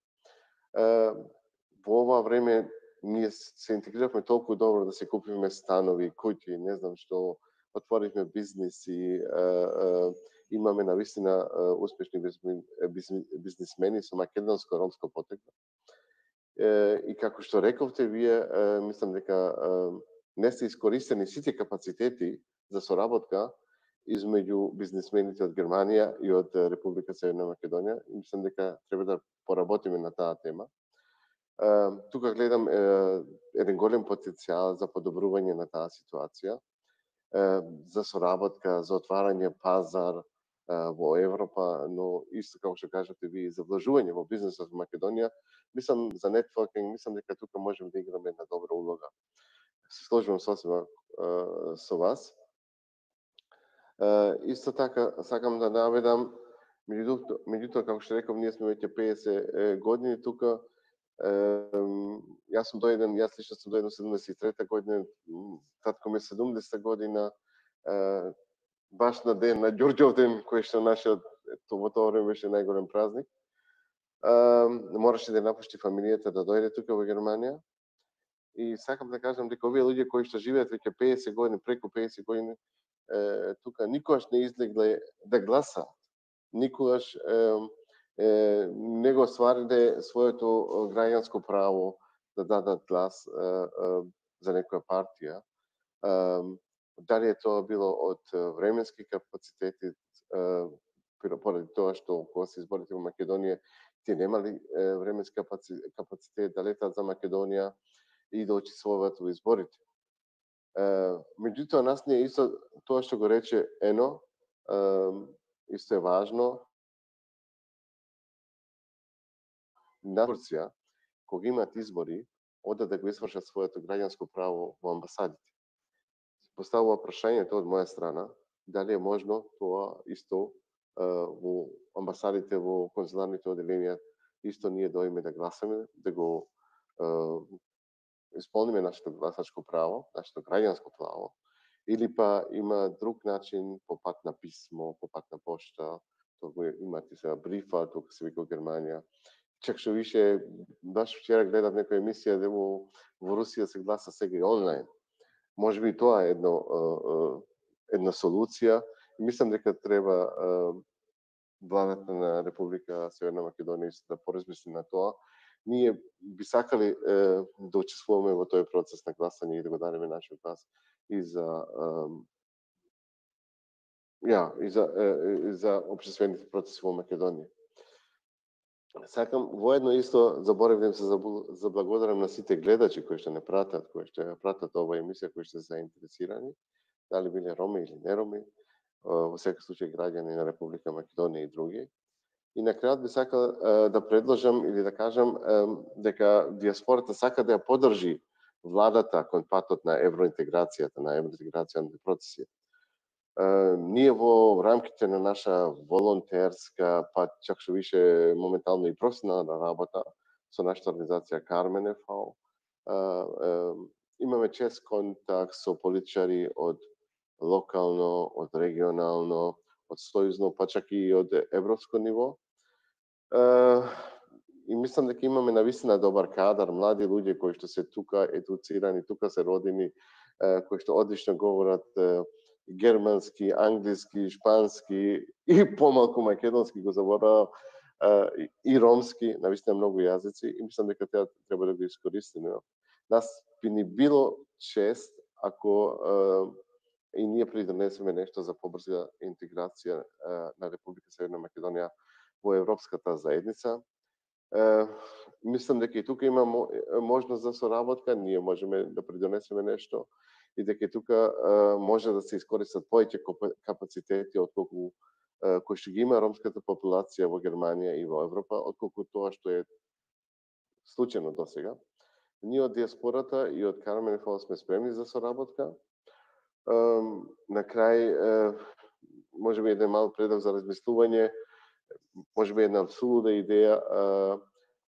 Во ова време ние се интегриравме толку добро да се купиме станови, куќи, не знам што, отворивме бизниси, имаме навистина успешни бизнисмени со македонско-ромско потекло. И како што рековте вие, мислам дека не се искористени сите капацитети за соработка измеѓу бизнисмените од Германија и од Република Северна Македонија. И мислам дека треба да поработиме на таа тема. Тука гледам еден голем потенцијал за подобрување на таа ситуација, за соработка, за отварање пазар во Европа, но исто како што кажате ви, за вложување во бизнисот во Македонија, мислам за нетворкинг, мислам дека тука можеме да играме една добра улога. Се сложувам сосема со вас. Исто така сакам да наведам, меѓутоа како што реков, ние сме веќе 50 години тука. Јас лично сум дојден 73 година, татко ми 70 година, баш на ден, на Ѓурѓов ден, кој што нашиот во тоа време беше најголем празник. Мораше да напушти фамилијата да дојде тука во Германија. И сакам да кажам дека овие луѓе кои што живеат веќе 50 години, преку 50 години, тука никогаш не излегле да гласаат. Никогаш не го оствариле своето граѓанско право да дадат глас за некоја партија. Дали е тоа било од временски капацитети, поради тоа што кога се изборите во Македонија, тие немали временски капацитет да летат за Македонија и да учествуваат во изборите. Меѓутоа, нас не е исто тоа што го рече Ено, исто е важно. На Турција, кога имаат избори, одат да го извршат своето граѓанско право во амбасадите. Поставува прашањето од моја страна, дали е можно тоа исто во амбасадите, во конзуларните оделенија, исто ние дојме да гласаме, да го исполниме нашето гласачко право, нашето граѓанско право, или па има друг начин, по пат на писмо, по пат на пошта, тоа имате сега брифа, тука се вика во Германија. Чак што више, баш вчера гледав некоја емисија дека во Русија се гласа сега и онлайн. Можеби тоа е една солуција. Мислам дека треба владата на Република Северна Македонија да поразмисли на тоа. Ние би сакали да учествуваме во тој процес на гласање и да го дадеме нашиот глас и за општествените процеси во Македонија. Сакам воедно исто заборавам да се заблагодарам на сите гледачи кои што не пратат, кои што ја пратат оваа емисија, кои што се заинтересирани, дали биле роми или не роми, во секој случај граѓани на Република Македонија и други. И на крајот би сакал да предложам или да кажам дека диаспората сака да ја поддржи владата кон патот на евроинтеграцијата, на евроинтеграцијните процеси. Ние во рамките на наша волонтерска, па чак што више моментално и професионална работа со нашата организација Кармен ФАО, имаме чест контакт со политичари од локално, од регионално, од сојузно, па чак и од европско ниво. И мислам дека имаме навистина добар кадар, млади луѓе кои што се тука едуцирани, тука се родени, кои што одлично говорат германски, англиски, шпански и помалку македонски го заборавам, и ромски, навистина многу јазици, и мислам дека треба да го искористиме. Нас би ни било чест ако и ние придонесеме нешто за побрза интеграција на Република Северна Македонија во Европската заедница. Мислам дека и тука има можност за соработка, ние можеме да придонесеме нешто и дека и тука може да се искористат повеќе капацитети отколку кои што ги има ромската популација во Германија и во Европа, отколку тоа што е случајно досега. Ние од диаспората и од Кармен Фол сме спремни за соработка. На крај, можеби еден мал предлог за размислување, можеби една абсурдна идеја,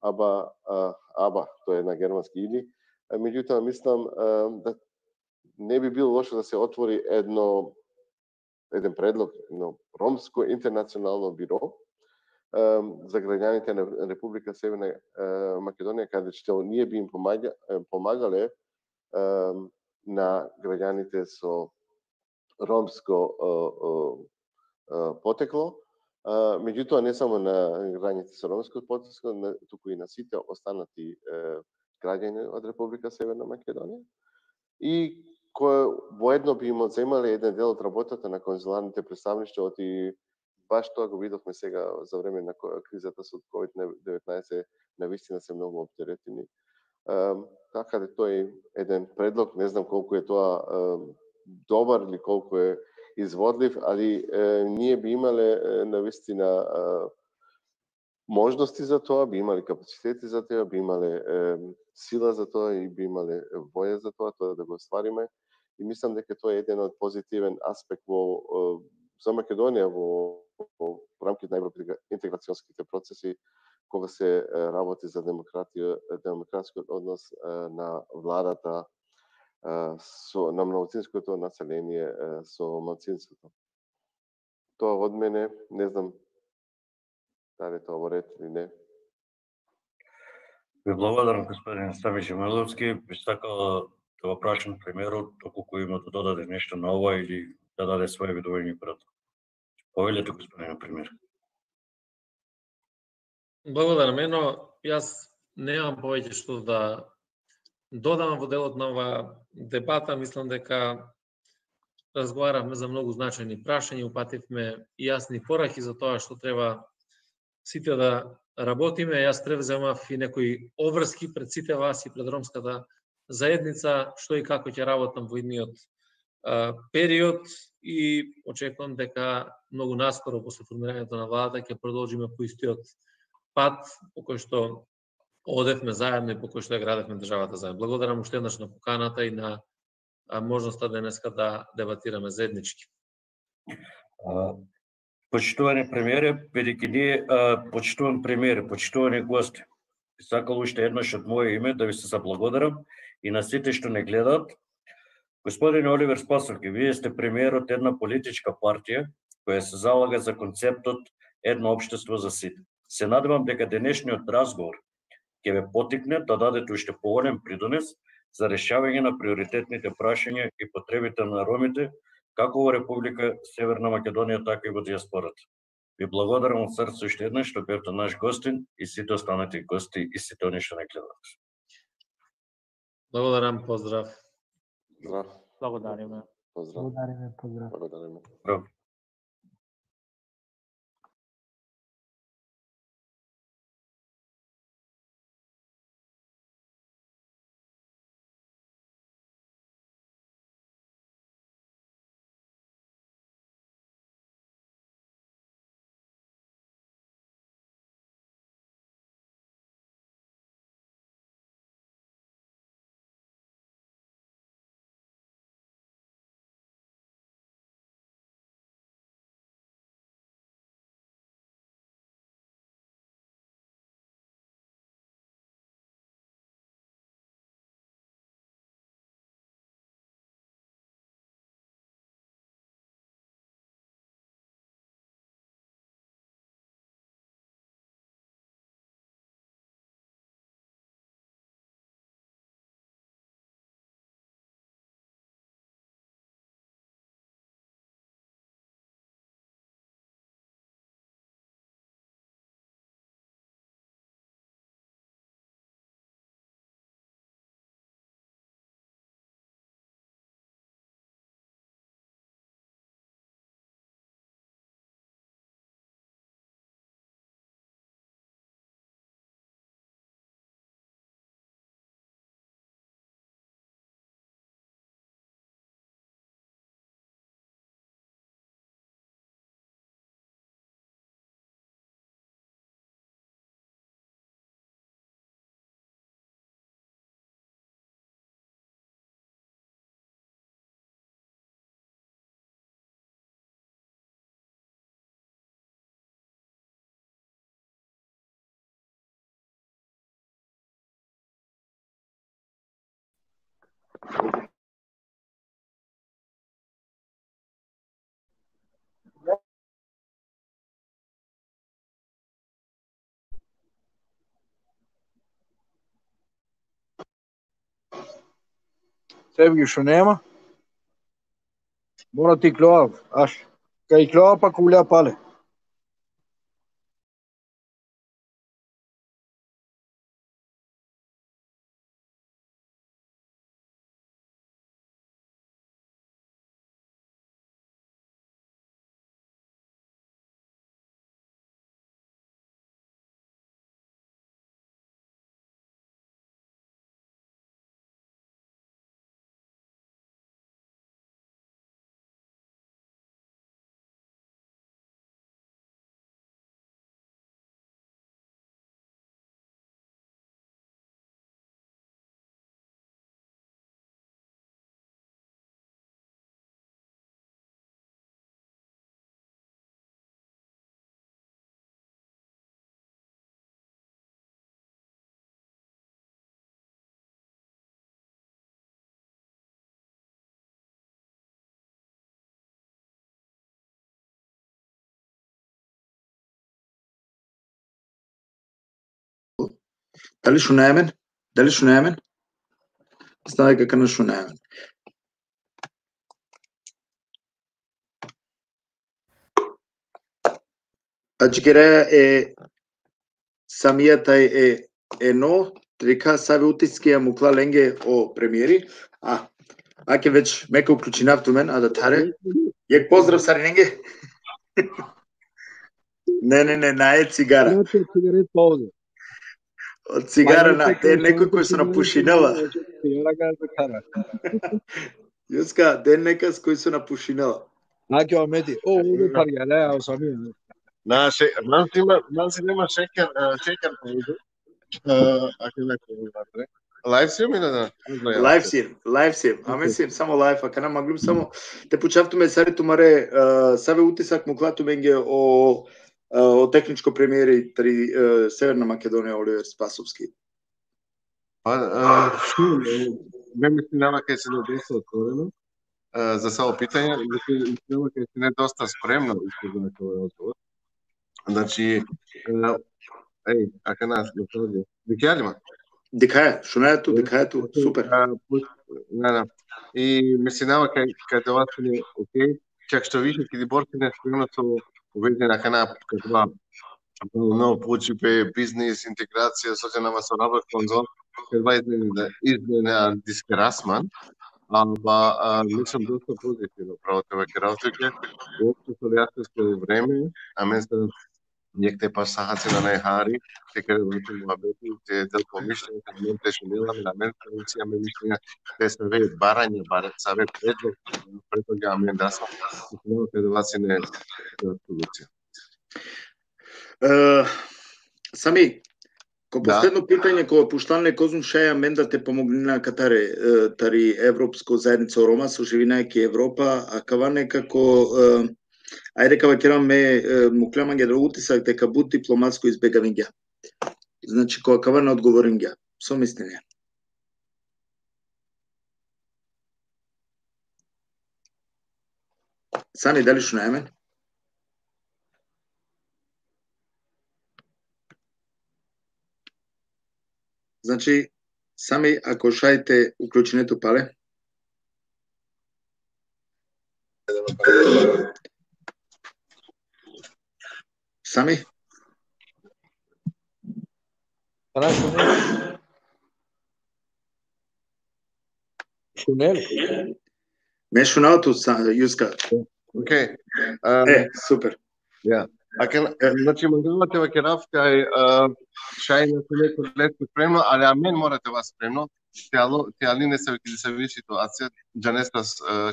аба, тоа е на германски или. Меѓутоа, мислам да не би било лошо да се отвори еден предлог, едно ромско интернационално биро за граѓаните на Република Северна Македонија, каде што ние би им помагале на граѓаните со ромско потекло, меѓутоа не само на граѓаните со ромско потекло, туку и на сите останати граѓани од Република Северна Македонија, и кој воедно би им одземале еден дел од работата на конзуларните представништва, и баш тоа го видовме сега за време на кризата со COVID-19, навистина се многу оптеретени. Така да тоа е еден предлог, не знам колку е тоа добар или колку е изводлив, али ние би имале навистина можности за тоа, би имале капацитети за тоа, би имале сила за тоа и би имале воја за тоа да го оствариме. И мислам дека тоа е еден од позитивен аспект за Македонија во рамките на интеграционските процеси, кога се работи за демократскиот однос на владата на малцинското население со малцинството. Тоа од мене, не знам дали тоа во ред или не. Ви благодарам, господин Стамиш Емиловски. Би сакала да го прашам премиерот, доколку има да додаде нешто на ова или да даде своје видување пред. Повелете, господин премиер. Благодарам, јас немам повеќе што да додам во делот на ова дебата. Мислам дека разговаравме за многу значајни прашања, упативме јасни пораки за тоа што треба сите да работиме. Јас превземав и некои обврски пред сите вас и пред ромската заедница, што и како ќе работам во идниот период, и очекувам дека многу наскоро после формирањето на владата ќе продолжиме по истиот пат по кој што одевме заедно и по кој што ја градевме државата заедно. Благодарам уште еднаш на поканата и на можноста денеска да дебатираме заеднички. Почитувани премиере, бидејќи ние почитуван премиере, почитувани гости, сакал уште еднаш од моје име да ви се заблагодарам и на сите што не гледаат. Господин Оливер Спасовски, вие сте премиер од една политичка партија која се залага за концептот едно општество за сите. Се надевам дека денешниот разговор ќе ве потикне да дадете уште поголем придонес за решавање на приоритетните прашања и потребите на ромите, како во Република Северна Македонија, така и во диаспората. Ви благодарам од срце уште еднаш што бевте наш гостин и сите останати гости и сите оние што не гледаат. Благодарам, поздрав. Здрав. Благодариме. Поздрав. Здрав. Севги што нема. Мора ти клоав, аш. Кај клоа па куля пале. Дали шо најмен? Дали шо најмен? Ставај како на шо најмен. Аџгереја е самијата е но, река сави утиски ја мукла ленге о премиери. Аке веќе мека уклучи нафтумен, а да таре. Јек поздрав сари ленге. Не, наје цигара. Од цигара на некој кој се напушинала. Јуска, ден некас кој се напушинала. Аке омети. Овде парјалеа самија. Манси нема шекер повеќе. Аке некој ватре. Лайв сим или да? Лайв сим. Аме сим само лайв, ака на маглум само те почавтуме сари тумаре саве утисак му клату менге о техничко премиери три Северна Македонија Оливер Спасовски. Ме мислам дека се доста отворено за само питање, мислам дека се не доста спремно за тој одговор. Значи, ака нас дојде. Дикјалима. Дикаја, шо не е ту, дикаја ту, супер. И мислам дека тоа е окей, чак што више ќе борсине спремно со уведена кана каква но почипе бизнес интеграција сојдена со работ конзол каква измена дискрасман ама мислам доста позитивно правото веќе работите општо со јасно време а мен се некте па сахаци на најхари дека веќе муабети те дел помишлење мен тешко деламе на мен се имаме мишлење те се ве барање саве предлог ја мен да сам но те доваци не солуција. Сами, ко последно питање кој пушталне козум шаја мен да те помогне на катаре тари европско заедница Рома со живинајќи Европа, а кава некако ајде кава кераме муклемање да утисак дека буд дипломатско избегавање. Значи која кава не одговорим ги. Со мислење. Сами дали шо најмен? Значи, сами ако шајте уклученето пале. Сами? Шунел? Не шуналто, Јуска. Окей. Супер. Ја. Значи, мандалата веќе рафка е шајна со некој леско спремно, али а мен морате вас спремно. Тиали не се веќе се виши ситуација, джанеста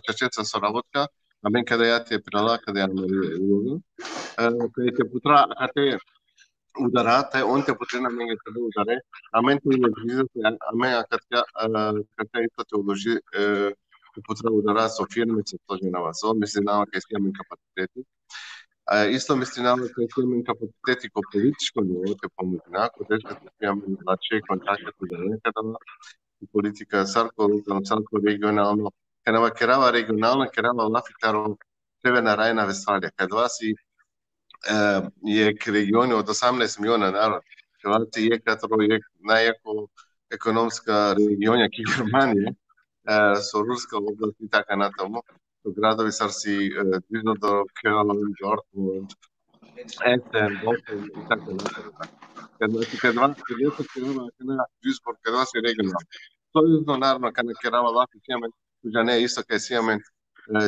чачеца со работка, а мен каде ја те прела, каде ја мери улога. Каде те путра, каде удара, тај он те потрена мене каде ударе, а мен те уложи, а мен каде исто те уложи, те путра удара со фирми, се сложи на вас. Мисли на кај си имаме капацитети. Исто мисли на кај си имаме капацитети ко политичко ниво, те помогна, ако тешко се имаме лаче контакти да некада, политика, сарко локално, сарко регионално, кај керава регионално, керава лафитаро Северна Рајна Вестфалија, кај два си е региони од 18 милиона народ, кај си е катро е најако економска регионја ки Германија, со руска област и така натаму, со градови сарси близо до Кёлн, Дортмунд, Есен, Босен и така натаму. Кај два Дюйсбург, кај два си регионално. Сојузно, наравно, кај керава лафи си имаме, туѓа не исто кај си имаме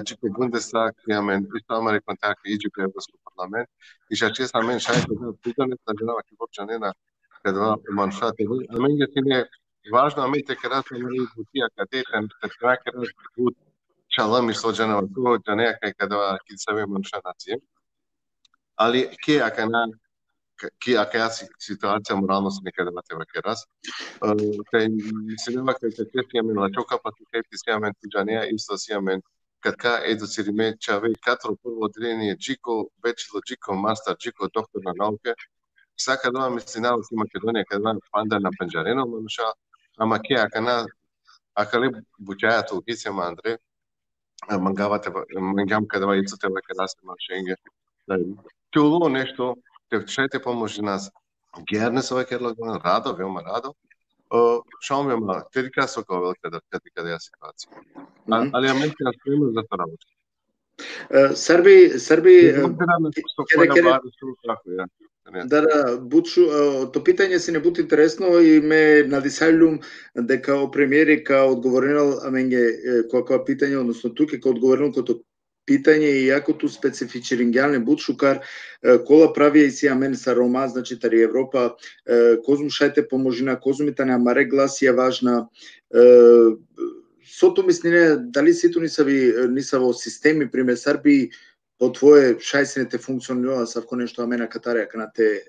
Джико Бундестаг, имаме исто Американ така и Джико Европски парламент, и ша честа мен шајте да питаме на женава ки почна не на кај два маншате. А мен ги си не важно, а мен те керат на мене бутија катетен, те керат бут чалами со женава, тоа женеја кај два ки себе маншанација. Али ке ака на ака ситуација морално се некаде вате вакерас. Кај мислима кај те имаме лачо капацитети си имаме туѓанеја исто си имаме катка едуцириме чаве катро прво одделение Джико, бечело Джико, мастер Джико, доктор на науке. Сака да мислина во Македонија каде панда на пенџарено мануша, ама ке ака ле буќајато угицема Андре, мангавате мангам каде ицоте вакерас машенге. Туло нешто те поможи нас. Герне со вакерло радо, веома радо. Шо веома терика со велика да каде ја ситуација. Али Америка ја спрема за тоа работа. Срби Да, Бутшу, то питање си не бути интересно и ме надисајлум дека о премиерика одговорил аменге која питање, односно туке кој одговорил кото питање и јако ту специфичирингјалне Бутшукар кола прави и си амен са Рома, значи тари Европа, козум шајте поможина, козумите на маре глас е важна. Сото мислине, дали сито ни са во системи, пример Срби, по твое шајсенете функционира савко нешто амена катарија канате,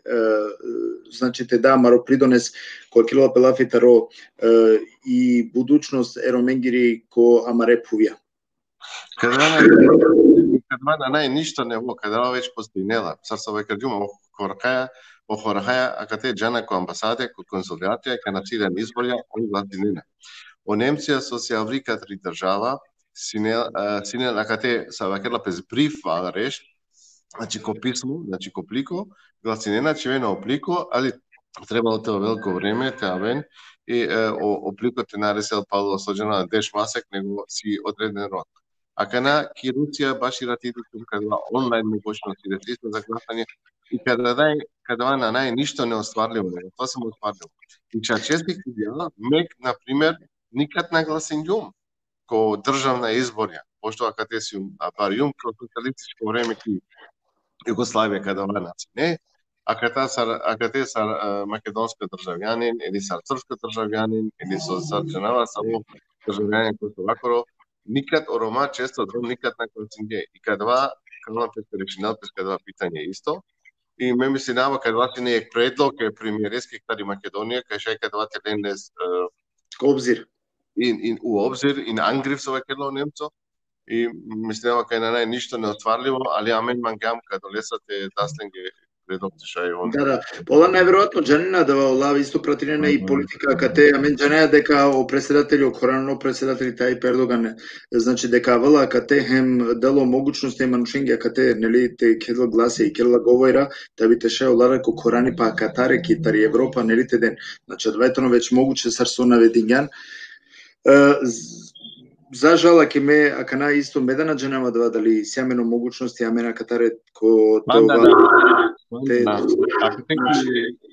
значи те да маро придонес кој килова пелафитаро и будучност ероменгири ко амаре пувија. Каде нај ништо не во, каде веќе постоинела. Сарсо веќе ѓума во хорахаја, а каде џана ко амбасаде, ко консулатија, ка нацилен изборја, он гладинина. О Немција со се аврика три држава, синел а каде са вакерла пез бриф реш, значи ко писмо, значи ко плико, гласинена чевено оплико, али требало тоа велико време, теавен, и опликот е наресел Павло Соџана деш масек, него си одреден род. А кана ки Русија баш и ратитикум када онлайн могуćности да се за гласање и када на нај ништо не остварливо, тоа се остварливо. И честих идеја, мек на пример никад на гласањум ко државна изборја, пошто каде си барјум ко социјалистичко време ки Југославија када наци не, а каде са македонска државјанин или са српска државјанин или со женава само државјанин кој со вакоро никад о Рома често дром никад на концинге и кадва решинал през кадва питање исто и ме мисли нава кадва си не е предлог е премиерески кади Македонија кај шај кадва теленес обзир у обзир и на ангрив со вакело немцо и мисли нава кај на нај ништо не отварливо али амен мангам каде лесате дасленге Да, пола неверојатно џанина да лави исто пратинена и политика кате амен џанеја дека о преседателјот Корано преседатели тај Ердоган значи дека вела кате хем дало могуćности манушенге кате нели те кедла гласе и кедла говора да би теше олара ко Корани па Катаре китари Европа нели те ден значи двајтоно веќе могуче сарсо наведињан за жала ке ме акана исто медана џанема да дали сјамено могуćности амена Катаре ко тоа Ако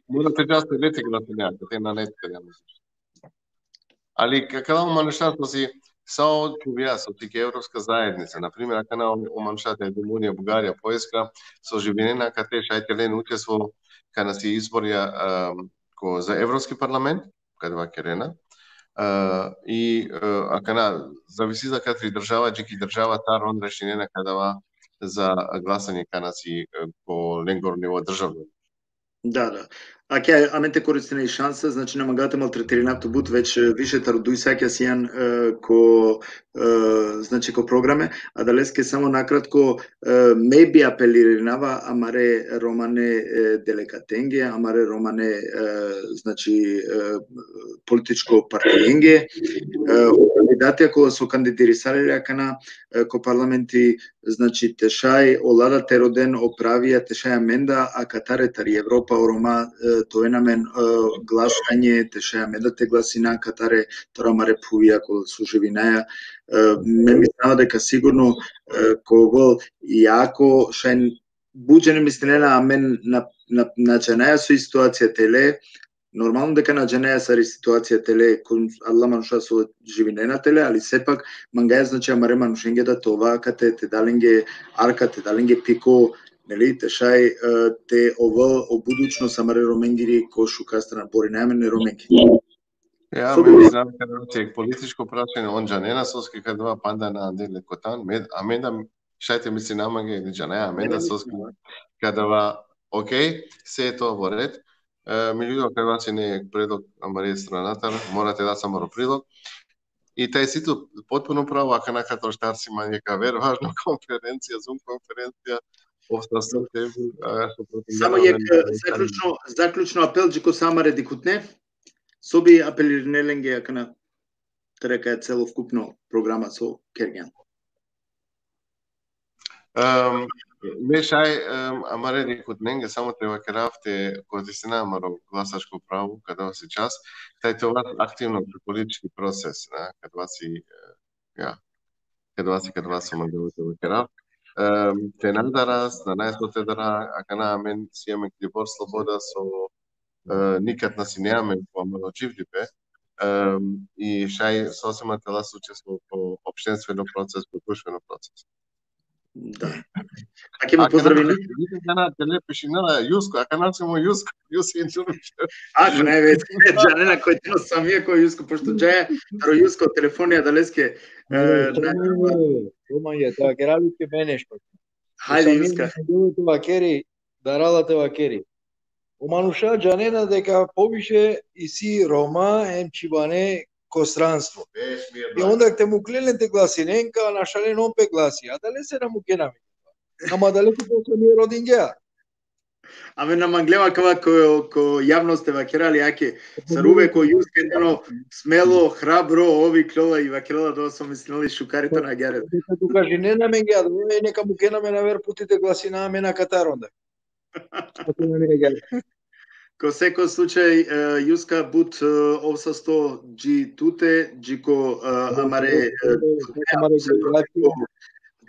морате да сте лете гласањата, те на нет каде али какава манушарство си сао чувија со тие европска заедница, на пример ако на оманшата е Румунија, Бугарија, Поljska со живењена каде шајтелен учество каде си изборја ко за Европски парламент, каде вакерена. И ако на зависи за катри држава, джеки држава тар он решенена кадава за гласање канаци по ленгор ниво државно. Да. Аке, аменте користене и шанса, значи намагате малтретиринато бут веќе више тародуј саќа сијан значи ко програме, а далеске само накратко maybe апелиринава амаре романе делекатенге, амаре романе значи политичко партиенге, кандидатија која со кандидирисале акана ко парламенти, значи тешај олада тероден оправија тешај аменда, а катаре тари Европа орома тоа намен гласање тешај аменда те гласина катаре тора маре пувија ко суживинаја. Ме мислам дека сигурно кого јако шај буџене мислена амен на чанаја со ситуација теле. Нормално дека на дженеја сари ситуација теле кон алла мануша со живинена теле, али сепак мангаја значи амаре манушенге да това кате те даленге арка те даленге пико, нели тешај те ова обудучно самаре роменгири ко шукастра бори најмене роменги. Ја мислам дека политичко прашање он джанена соски кадва панда на анделе котан аменда шајте мисли намаге или джанеја аменда соски кадва окей се тоа во ред. Милијудо кај си не е предлог амаре страната, морате да само прилог. И тај сито потпуно право, ака на като штарси мањека верважна конференција, Zoom конференција, обстасо теби, само заклучно апелџи ко самаре дикутне, соби апелирнеленге ака на трека целовкупно програма со Кергјан. Мешај амаре дикутненге само треба керавте користина амаро гласачко право када си час, тај това активно политички процес, када си мандалите во керав. Те надарас, на најсоте дара, ака на амен си еме Клибор Слобода со никад на си неамен по амано живдипе, и шај сосема тела учество по општествено процес, по друштвено процес. Да. Аке ме поздравили. Дана теле пишинала Јуско, ака насимо Јуско, Јуси Инчурич. Ака највеќе джанена кој ти самија кој Јуско, пошто джаја таро Јуско телефонија далеске. Ромање, тоа кералите менешто. Хајде Јуска. Делото вакери, даралате вакери. Омануша джанена дека повише и си Рома емчибане костранство. И онда те му кленете гласиненка, а нашален он пе гласи. А дале се на му кенами. Ама далеко после ми родин геа. Аме на манглема кава ко јавност е вакерали, аке саруве ко Јуске едно смело, храбро, ови клова и вакерала да со мислили шукарите на герет. Дека тука жене на мен геа, нека му кенаме на вер путите гласина аме на Катар онда. Ко секој случај, Јуска бут овсасто джи туте, джи ко амаре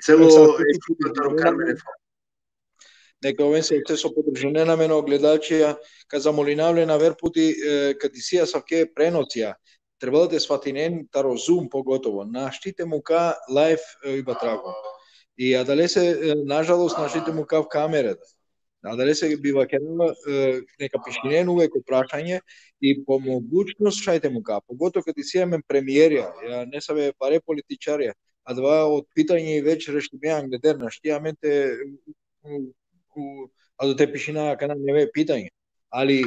цело екипата Кармене. Нека овен се со подржане на мене огледачија, ка замолинавле на верпути кадисија савке преноција. Треба да сватинен таро Zoom поготово. Наштите мука лайф и батраго. И адале се нажалост наштите мука в камерата. А дали се бива керала нека пишинен увеќе прашање и по могучност шајте му ка. Погото кога си имаме премиерија, ја не сабе паре политичарија, а два од питање и веќе рештимеан гледер на штиаменте а до те пишина кана не е питање. Али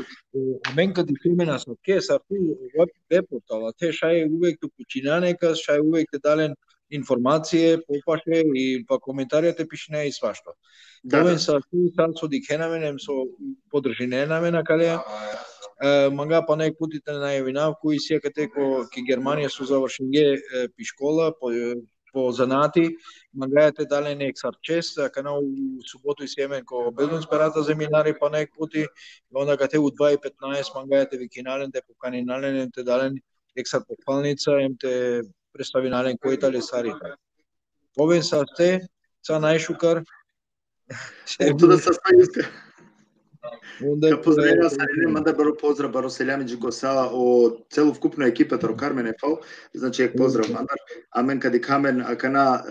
мен кога си имена со ке сарту веб портала, те шај увеќе починанека, шај увеќе дален информација, попаше и па коментаријата пишина и свашто. Овен са со дикенаменем со подржиненамена кале манга па најк путите најавинав кои секате ко ки Германија со завршенге пишкола по занати мангајате дален ексарчест кана у суботу и семен ко Белдунсперата земинари па најк пути онда кате у 2:15 мангајате викинален те поканинален те дален ексар похвалница емте представинален кој тали сарите. Овен са те са најшукар. Ето да се Јуска. Ка поздравија Сарине, мада баро поздрав баро селјамиџи коса о целовкупна екипата ро Кармене фал, значи ек поздрав мандар, амен кади камен акана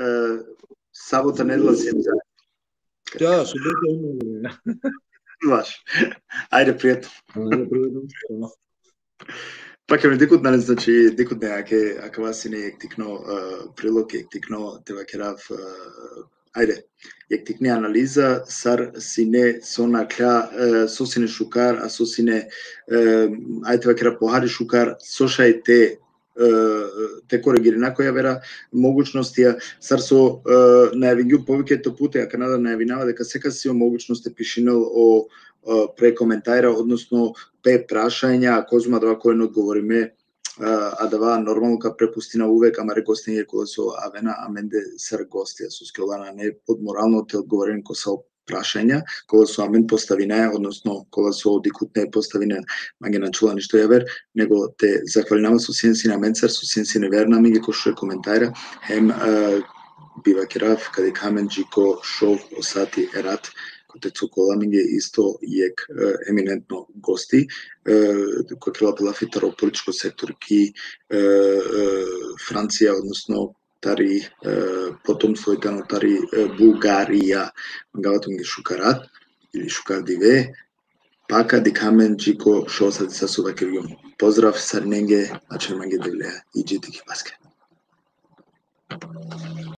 сабота недела седмица. Да, субота. Ваш. Ајде пријатно. Пак ме дикут нали значи дикут не аке вас не ектикно прилог ектикно те вакерав ајде, јектикни анализа, сар сине сона кля, со сине шукар, а со сине, ајде вакера похари шукар, сошај те коригири накоја вера могуćностија, сар со најавињу повеќето путе, а Канада најавинава дека секогаш си могуćност е пишинел о прекоментајра, односно пе прашања, козма да кој не одговориме, а да нормално ка препустина увек, ама рекостиње кола со авена, аменде сар гостија со скелана, не под морално те одговорен ко со прашања, кога со амен поставине, односно кога со одикут не поставине, мање начула ништо јавер, него те захвалинама со сенси на менцар, со сенси не верна ми ги кошуе коментајра, хем бива керав, каде камен джико шов осати ерат, кој цукола ми ги исто јек еминентно гости, кој крила пилафитаро политичко сектор ки Франција, односно тари потомство итано тари Бугарија, магавато ги шукарат или шукар диве, пака ди камен джико шо сади са сувакиргиум. Поздрав сарненге, наче манге девлеа и джити ки паске.